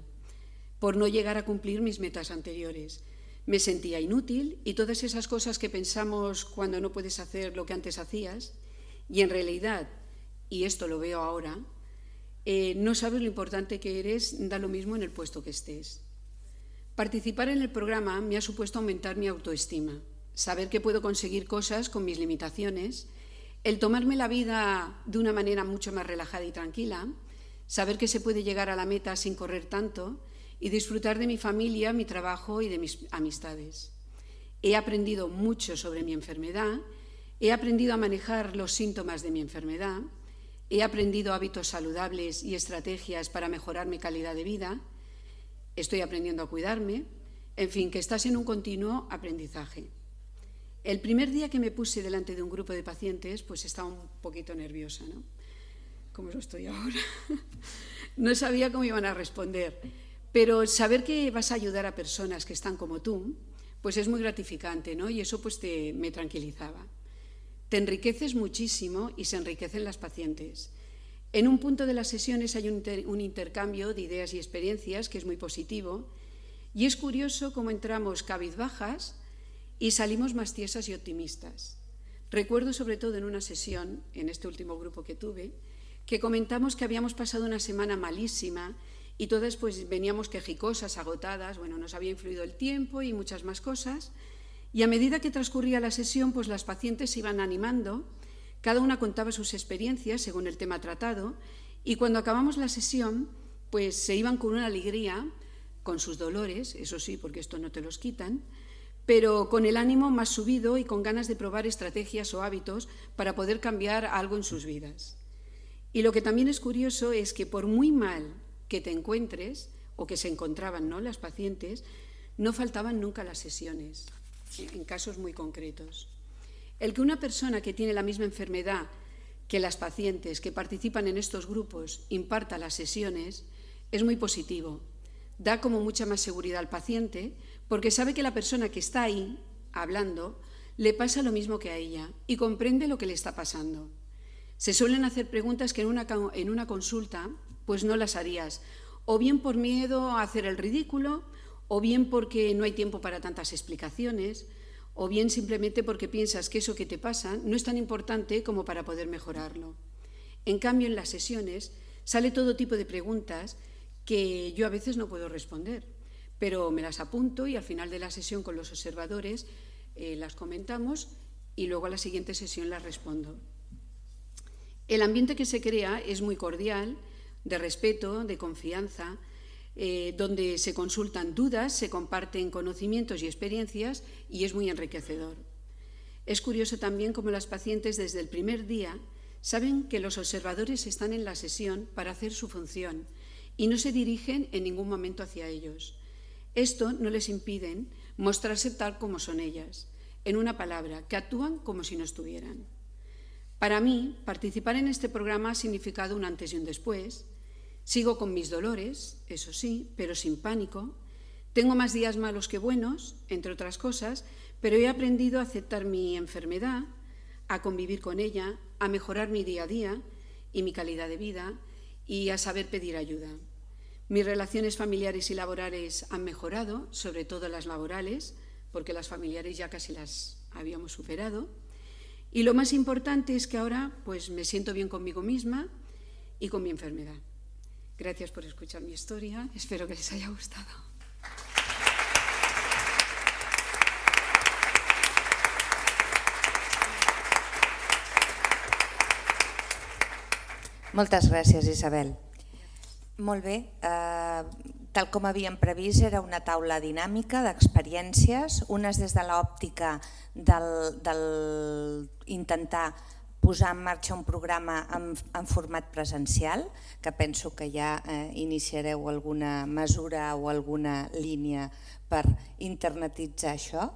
por no llegar a cumplir mis metas anteriores. Me sentía inútil y todas esas cosas que pensamos cuando no puedes hacer lo que antes hacías y en realidad, y esto lo veo ahora, eh, no sabes lo importante que eres, da lo mismo en el puesto que estés. Participar en el programa me ha supuesto aumentar mi autoestima, saber que puedo conseguir cosas con mis limitaciones, el tomarme la vida de una manera mucho más relajada y tranquila, saber que se puede llegar a la meta sin correr tanto y disfrutar de mi familia, mi trabajo y de mis amistades. He aprendido mucho sobre mi enfermedad, he aprendido a manejar los síntomas de mi enfermedad, he aprendido hábitos saludables y estrategias para mejorar mi calidad de vida, estoy aprendiendo a cuidarme, en fin, que estás en un continuo aprendizaje. El primer día que me puse delante de un grupo de pacientes, pues estaba un poquito nerviosa, ¿no? Como lo estoy ahora. No sabía cómo iban a responder, pero saber que vas a ayudar a personas que están como tú, pues es muy gratificante, ¿no? Y eso pues te, me tranquilizaba. Te enriqueces muchísimo y se enriquecen las pacientes. En un punto de las sesiones hay un, inter, un intercambio de ideas y experiencias que es muy positivo y es curioso cómo entramos cabizbajas y salimos más tiesas y optimistas. Recuerdo sobre todo en una sesión, en este último grupo que tuve, que comentamos que habíamos pasado una semana malísima y todas pues veníamos quejicosas, agotadas, bueno, nos había influido el tiempo y muchas más cosas. Y a medida que transcurría la sesión, pues las pacientes se iban animando, cada una contaba sus experiencias según el tema tratado, y cuando acabamos la sesión, pues se iban con una alegría, con sus dolores, eso sí, porque esto no te los quitan, pero con el ánimo más subido y con ganas de probar estrategias o hábitos para poder cambiar algo en sus vidas. Y lo que también es curioso es que por muy mal que te encuentres, o que se encontraban, ¿no?, las pacientes, no faltaban nunca las sesiones, en casos muy concretos. El que una persona que tiene la misma enfermedad que las pacientes que participan en estos grupos imparta las sesiones es muy positivo. Da como mucha más seguridad al paciente porque sabe que la persona que está ahí hablando le pasa lo mismo que a ella y comprende lo que le está pasando. Se suelen hacer preguntas que en una, en una consulta pues no las harías, o bien por miedo a hacer el ridículo, o bien porque no hay tiempo para tantas explicaciones, o bien simplemente porque piensas que eso que te pasa no es tan importante como para poder mejorarlo. En cambio, en las sesiones sale todo tipo de preguntas que yo a veces no puedo responder, pero me las apunto y al final de la sesión con los observadores eh, las comentamos y luego a la siguiente sesión las respondo. El ambiente que se crea es muy cordial, de respeto, de confianza, eh, donde se consultan dudas, se comparten conocimientos y experiencias y es muy enriquecedor. Es curioso también cómo las pacientes desde el primer día saben que los observadores están en la sesión para hacer su función y no se dirigen en ningún momento hacia ellos. Esto no les impide mostrarse tal como son ellas, en una palabra, que actúan como si no estuvieran. Para mí, participar en este programa ha significado un antes y un después. Sigo con mis dolores, eso sí, pero sin pánico. Tengo más días malos que buenos, entre otras cosas, pero he aprendido a aceptar mi enfermedad, a convivir con ella, a mejorar mi día a día y mi calidad de vida y a saber pedir ayuda. Mis relaciones familiares y laborales han mejorado, sobre todo las laborales, porque las familiares ya casi las habíamos superado. Y lo más importante es que ahora pues, me siento bien conmigo misma y con mi enfermedad. Gracias por escuchar mi historia, espero que les haya gustado. Moltes gràcies, Isabel. Molt bé, eh, tal com havíem previst, era una taula dinàmica d'experiències, unes des de l'òptica del, del intentar posar en marxa un programa en, en format presencial, que penso que ja eh, iniciareu alguna mesura o alguna línia per internetitzar això,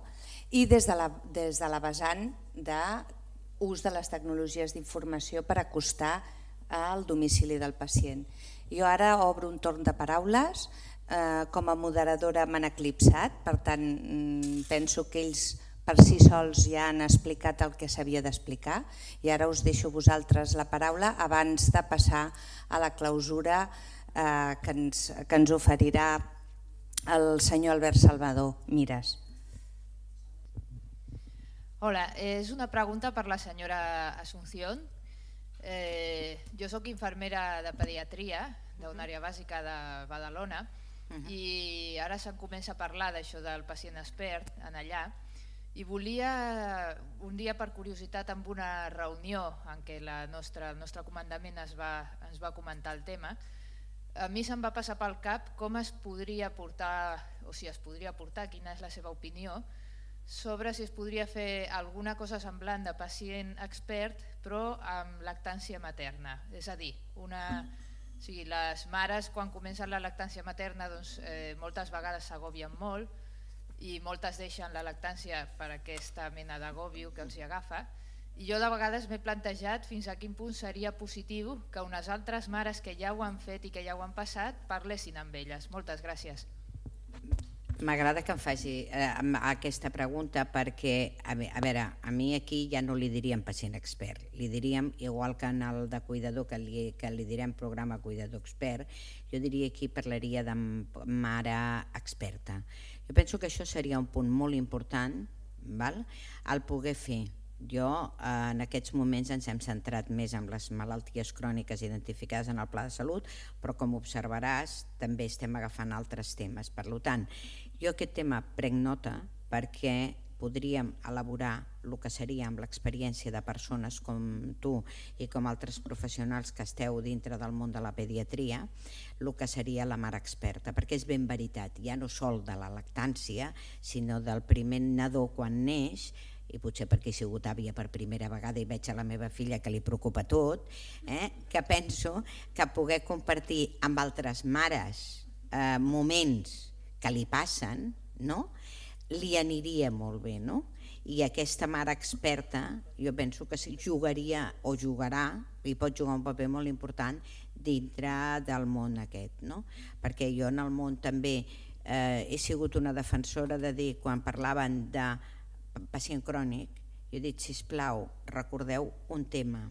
i des de la, des de la vessant d'ús de les tecnologies d'informació per acostar al domicili del pacient. Jo ara obro un torn de paraules, eh, com a moderadora m'han eclipsat, per tant penso que ells per si sols ja han explicat el que s'havia d'explicar i ara us deixo vosaltres la paraula abans de passar a la clausura eh, que, ens, que ens oferirà el senyor Albert Salvador Mires. Hola, és una pregunta per la senyora Asunción. Eh, jo soc infermera de pediatria d'una àrea bàsica de Badalona i ara se'n comença a parlar d'això del pacient expert en allà i volia, un dia per curiositat en una reunió en què la nostra, el nostre comandament es va, ens va comentar el tema, a mi se'm va passar pel cap com es podria portar, o si es podria portar, quina és la seva opinió sobre si es podria fer alguna cosa semblant de pacient expert però amb lactància materna. És a dir, una, o sigui, les mares quan comencen la lactància materna doncs, eh, moltes vegades s'agobien molt i moltes deixen la lactància per aquesta mena d'agòbio que els hi agafa i jo de vegades m'he plantejat fins a quin punt seria positiu que unes altres mares que ja ho han fet i que ja ho han passat parlessin amb elles. Moltes gràcies. M'agrada que em faci eh, aquesta pregunta perquè, a veure, a mi aquí ja no li diríem pacient expert, li diríem, igual que en el de cuidador, que li, que li direm programa cuidador expert, jo diria aquí parlaria de mare experta. Jo penso que això seria un punt molt important, val? El poder fer. Jo eh, en aquests moments ens hem centrat més en les malalties cròniques identificades en el Pla de Salut, però com observaràs també estem agafant altres temes. Per tant, jo aquest tema prenc nota perquè podríem elaborar el que seria amb l'experiència de persones com tu i com altres professionals que esteu dintre del món de la pediatria, el que seria la mare experta, perquè és ben veritat, ja no sol de la lactància, sinó del primer nadó quan neix, i potser perquè he sigut àvia per primera vegada i veig a la meva filla que li preocupa tot, eh? que penso que poder compartir amb altres mares eh, moments que li passen, no? li aniria molt bé. No? I aquesta mare experta jo penso que jugaria o jugarà, i pot jugar un paper molt important dintre del món aquest. No? Perquè jo en el món també eh, he sigut una defensora de dir, quan parlaven de pacient crònic, jo he dit, sisplau, recordeu un tema,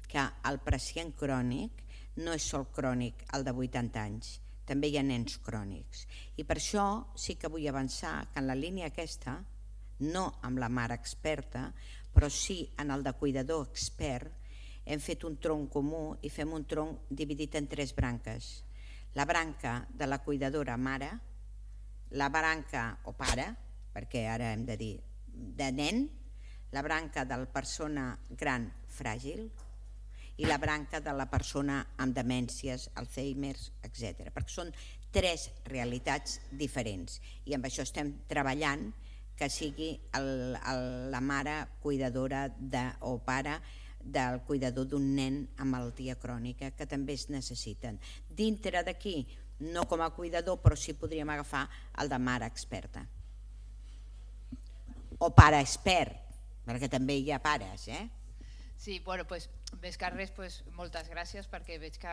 que el pacient crònic no és sol crònic el de vuitanta anys, també hi ha nens crònics. I per això sí que vull avançar que en la línia aquesta, no amb la mare experta, però sí en el de cuidador expert, hem fet un tronc comú i fem un tronc dividit en tres branques. La branca de la cuidadora mare, la branca o pare, perquè ara hem de dir de nen, la branca de la persona gran fràgil i la branca de la persona amb demències, Alzheimer's, etcètera. Perquè són tres realitats diferents i amb això estem treballant que sigui el, el, la mare cuidadora de, o pare del cuidador d'un nen amb malaltia crònica que també es necessiten. Dintre d'aquí, no com a cuidador, però sí podríem agafar el de mare experta. o pare expert, perquè també hi ha pares, eh? Sí, bueno, pues, més que res, pues, moltes gràcies perquè veig que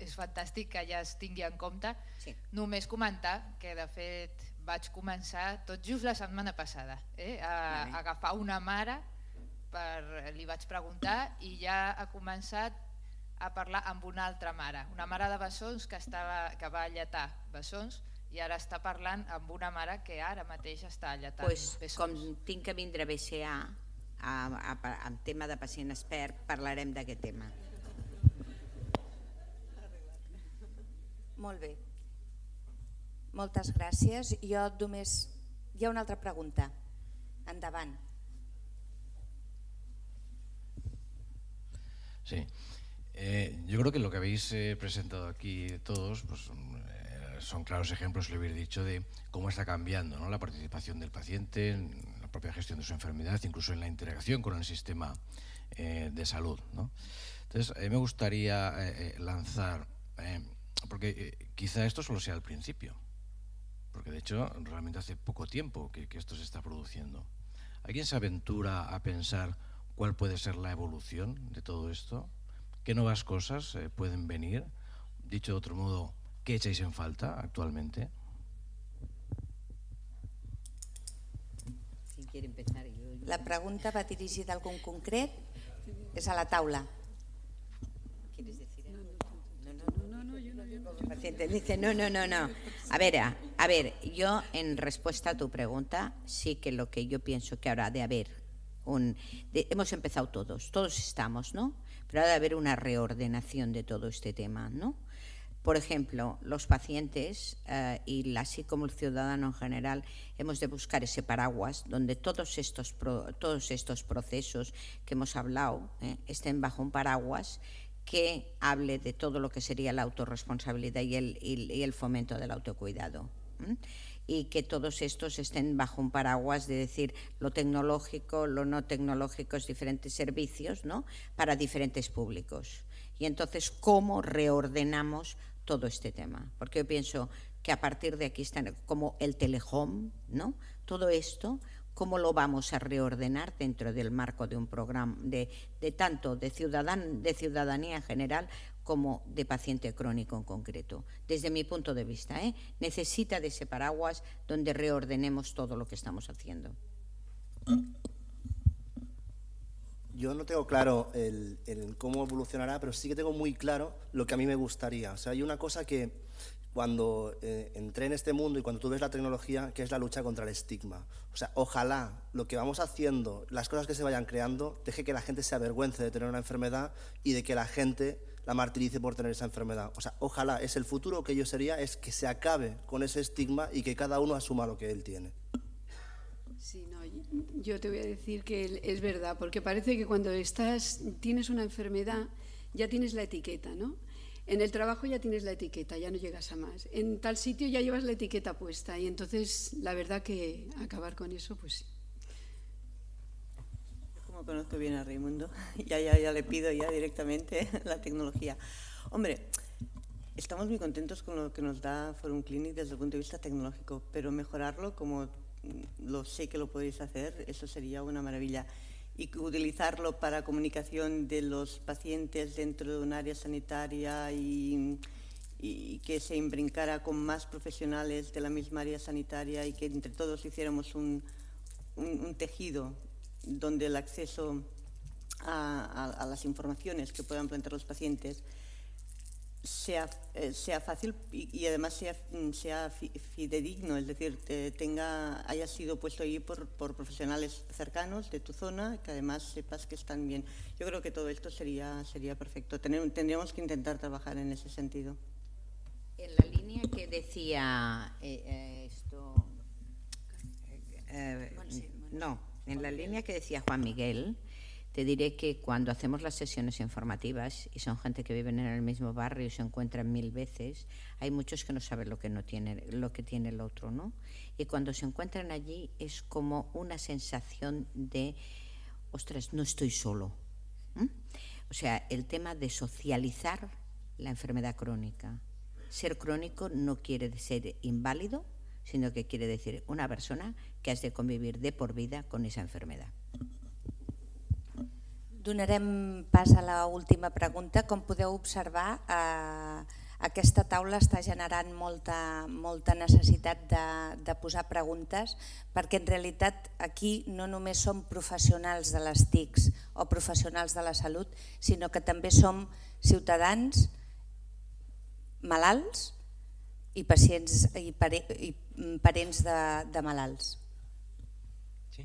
és fantàstic que ja es tingui en compte. Sí. Només comentar que de fet vaig començar tot just la setmana passada eh, a, a agafar una mare, per, li vaig preguntar i ja ha començat a parlar amb una altra mare, una mare de bessons que, estava, que va alletar bessons i ara està parlant amb una mare que ara mateix està alletant pues, bessons. Com tinc que vindre a B C A en tema de pacient expert, parlarem d'aquest tema. Molt bé. Moltes gràcies. Jo només... Hi ha una altra pregunta. Endavant. Sí. Eh, yo creo que lo que habéis eh, presentado aquí todos pues, eh, son claros ejemplos, lo habéis dicho, de cómo está cambiando, ¿no?, la participación del paciente en la propia gestión de su enfermedad, incluso en la interacción con el sistema eh, de salud, ¿no? Entonces, a mí me gustaría eh, lanzar, eh, porque eh, quizá esto solo sea el principio, porque de hecho realmente hace poco tiempo que, que esto se está produciendo. ¿Alguien se aventura a pensar cuál puede ser la evolución de todo esto? ¿Qué nuevas cosas eh, pueden venir? Dicho de otro modo, ¿qué echáis en falta actualmente? Si quiere empezar, yo, yo... La pregunta va dirigida a algun concret? És a la taula. ¿Quieres decir algo? No, no, no, no, yo no, yo no. El paciente dice, no, no, no, no. A ver, a, a ver, yo en respuesta a tu pregunta, sí que lo que yo pienso que habrá de haber, un, de, hemos empezado todos, todos estamos, ¿no? Pero ha de haber una reordenación de todo este tema, ¿no? Por ejemplo, los pacientes eh, y así como el ciudadano en general hemos de buscar ese paraguas donde todos estos, pro, todos estos procesos que hemos hablado eh, estén bajo un paraguas que hable de todo lo que sería la autorresponsabilidad y el, y, y el fomento del autocuidado. ¿eh? Y que todos estos estén bajo un paraguas de decir lo tecnológico, lo no tecnológico, diferentes servicios, ¿no?, para diferentes públicos. Y entonces, ¿cómo reordenamos todo este tema? Porque yo pienso que a partir de aquí están como el telehome, ¿no?, todo esto, ¿cómo lo vamos a reordenar dentro del marco de un programa de, de tanto de, ciudadan, de ciudadanía en general como de paciente crónico en concreto? Desde mi punto de vista, ¿eh? necesita de ese paraguas donde reordenemos todo lo que estamos haciendo. Yo no tengo claro el, el cómo evolucionará, pero sí que tengo muy claro lo que a mí me gustaría. O sea, hay una cosa que cuando eh, entré en este mundo y cuando tú ves la tecnología, que es la lucha contra el estigma. O sea, ojalá lo que vamos haciendo, las cosas que se vayan creando, deje que la gente se avergüence de tener una enfermedad y de que la gente la martirice por tener esa enfermedad. O sea, ojalá, es el futuro que yo sería, es que se acabe con ese estigma y que cada uno asuma lo que él tiene. Sí, no, yo te voy a decir que es verdad, porque parece que cuando estás, tienes una enfermedad, ya tienes la etiqueta, ¿no? En el trabajo ya tienes la etiqueta, ya no llegas a más. En tal sitio ya llevas la etiqueta puesta y entonces la verdad que acabar con eso, pues sí. Como conozco bien a Raimundo, ya, ya, ya le pido ya directamente la tecnología. Hombre, estamos muy contentos con lo que nos da Forum Clinic desde el punto de vista tecnológico, pero mejorarlo, como lo sé que lo podéis hacer, eso sería una maravilla. Y utilizarlo para comunicación de los pacientes dentro de un área sanitaria y, y que se imbrincara con más profesionales de la misma área sanitaria y que entre todos hiciéramos un, un, un tejido donde el acceso a, a, a las informaciones que puedan plantear los pacientes sea, eh, sea fácil y, y además sea, sea fidedigno, es decir, te, tenga, haya sido puesto ahí por, por profesionales cercanos de tu zona, que además sepas que están bien. Yo creo que todo esto sería, sería perfecto. Tener, tendríamos que intentar trabajar en ese sentido. En la línea que decía eh, eh, esto, eh, no, en la línea que decía Juan Miguel, te diré que cuando hacemos las sesiones informativas, y son gente que viven en el mismo barrio y se encuentran mil veces, hay muchos que no saben lo que, no tiene, lo que tiene el otro, ¿no? Y cuando se encuentran allí es como una sensación de, ostras, no estoy solo. ¿Mm? O sea, el tema de socializar la enfermedad crónica. Ser crónico no quiere ser inválido, sino que quiere decir una persona que has de convivir de por vida con esa enfermedad. Donarem pas a l'última pregunta. Com podeu observar, eh, aquesta taula està generant molta, molta necessitat de, de posar preguntes, perquè en realitat aquí no només som professionals de les T I Cs o professionals de la salut, sinó que també som ciutadans malalts i pacients i, pare, i parents de, de malalts. Sí.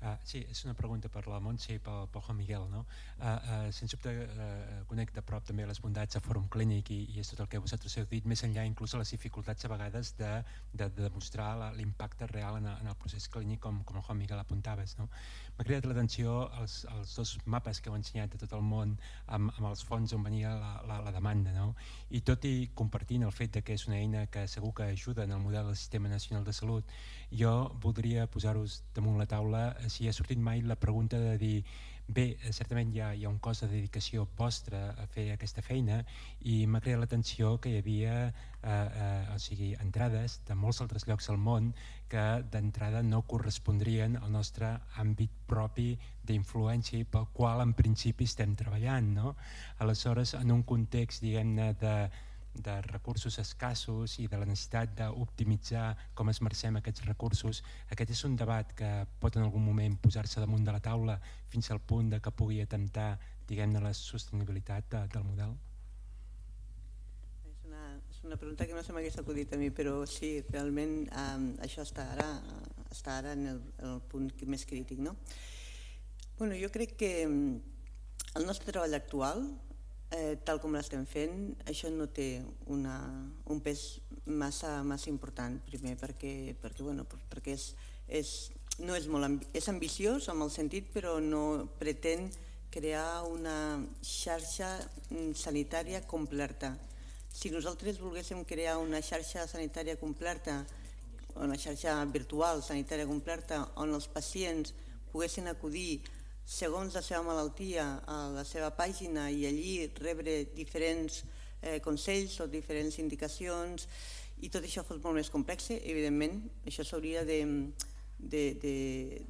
Uh, sí, és una pregunta per la Montse i pel, pel Juan Miguel. No? Uh, uh, sens dubte uh, conec de prop també les bondats de Fòrum Clínic i, i és tot el que vosaltres heu dit, més enllà inclús a les dificultats a vegades de, de, de demostrar l'impacte real en, en el procés clínic, com, com el Juan Miguel apuntaves. No? M'ha cridat l'atenció els, els dos mapes que heu ensenyat de tot el món amb, amb els fons on venia la, la, la demanda. No? I tot i compartint el fet de que és una eina que segur que ajuda en el model del Sistema Nacional de Salut, jo voldria posar-vos damunt la taula si ha sortit mai la pregunta de dir bé, certament hi ha, hi ha un cost de dedicació vostra a fer aquesta feina i m'ha creat l'atenció que hi havia eh, eh, o sigui, entrades de molts altres llocs al món que d'entrada no correspondrien al nostre àmbit propi d'influència i pel qual en principi estem treballant. No? Aleshores, en un context, diguem-ne, de de recursos escassos i de la necessitat d'optimitzar com esmercem aquests recursos, aquest és un debat que pot en algun moment posar-se damunt de la taula fins al punt de que pugui atemptar, diguem-ne, la sostenibilitat de, del model? És una, és una pregunta que no se m'hagués acudit a mi, però sí, realment eh, això està ara, està ara en el, en el punt més crític. No? Bueno, jo crec que el nostre treball actual, Eh, tal com l'estem fent, això no té una, un pes massa, massa important, primer perquè, perquè, bueno, perquè és, és, no és, molt ambi és ambiciós en el sentit, però no pretén crear una xarxa sanitària completa. Si nosaltres volguéssim crear una xarxa sanitària completa, una xarxa virtual sanitària completa, on els pacients poguessin acudir segons la seva malaltia a la seva pàgina i allí rebre diferents eh, consells o diferents indicacions i tot això fos molt més complex, evidentment això s'hauria de, de, de,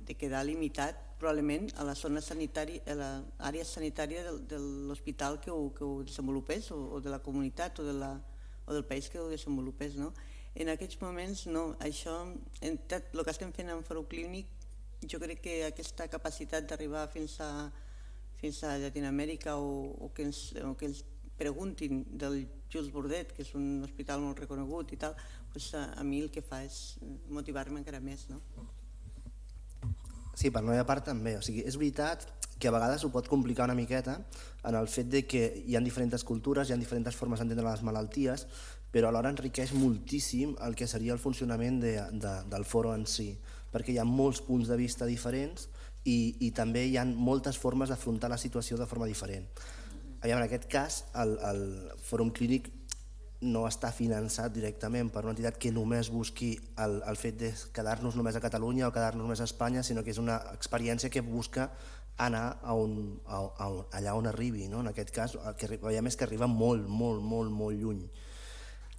de quedar limitat probablement a la zona sanitària, a l'àrea sanitària de, de l'hospital que, que ho desenvolupés o, o de la comunitat o, de la, o del país que ho desenvolupés. No? En aquests moments no, això, en tot el que estem fent en Fòrum Clínic, jo crec que aquesta capacitat d'arribar fins a, fins a Llatinoamèrica o, o, que ens, o que ens preguntin del Jules Bordet, que és un hospital molt reconegut i tal, doncs a, a mi el que fa és motivar-me encara més. No? Sí, per la meva part també. O sigui, és veritat que a vegades ho pot complicar una miqueta en el fet de que hi ha diferents cultures, hi ha diferents formes d'entendre les malalties, però alhora enriqueix moltíssim el que seria el funcionament de, de, del foro en si, perquè hi ha molts punts de vista diferents i, i també hi ha moltes formes d'afrontar la situació de forma diferent. En aquest cas, el, el Fòrum Clínic no està finançat directament per una entitat que només busqui el, el fet de quedar-nos només a Catalunya o quedar-nos només a Espanya, sinó que és una experiència que busca anar a on, a, a, allà on arribi. No? En aquest cas, el que veiem és que arriba molt, molt, molt, molt lluny.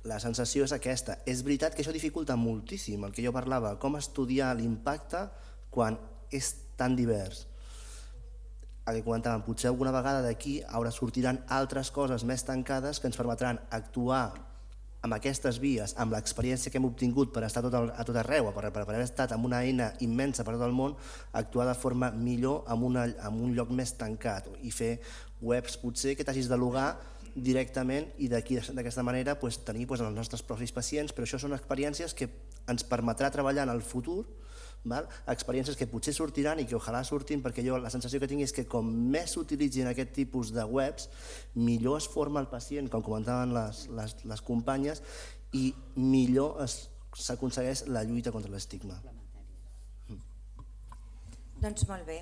La sensació és aquesta. És veritat que això dificulta moltíssim el que jo parlava, com estudiar l'impacte quan és tan divers. El que comentàvem, potser alguna vegada d'aquí ara sortiran altres coses més tancades que ens permetran actuar amb aquestes vies, amb l'experiència que hem obtingut per estar tot el, a tot arreu, per, per haver estat amb una eina immensa per tot el món, actuar de forma millor en, una, en un lloc més tancat i fer webs potser que t'hagis de logar directament i d'aquesta manera pues, tenir pues, els nostres propis pacients, però això són experiències que ens permetrà treballar en el futur, val? Experiències que potser sortiran i que ojalà surtin, perquè jo la sensació que tinc és que com més s'utilitzin aquest tipus de webs, millor es forma el pacient, com comentaven les, les, les companyes, i millor s'aconsegueix la lluita contra l'estigma. Mm. Doncs molt bé,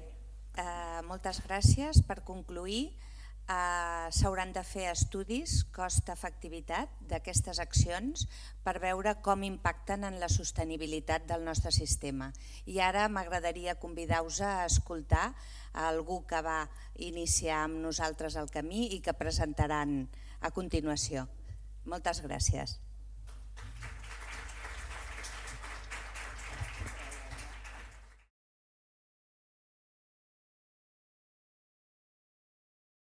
uh, moltes gràcies. Per concluir, Uh, s'hauran de fer estudis cost-efectivitat d'aquestes accions per veure com impacten en la sostenibilitat del nostre sistema. I ara m'agradaria convidar-vos a escoltar a algú que va iniciar amb nosaltres el camí i que presentaran a continuació. Moltes gràcies.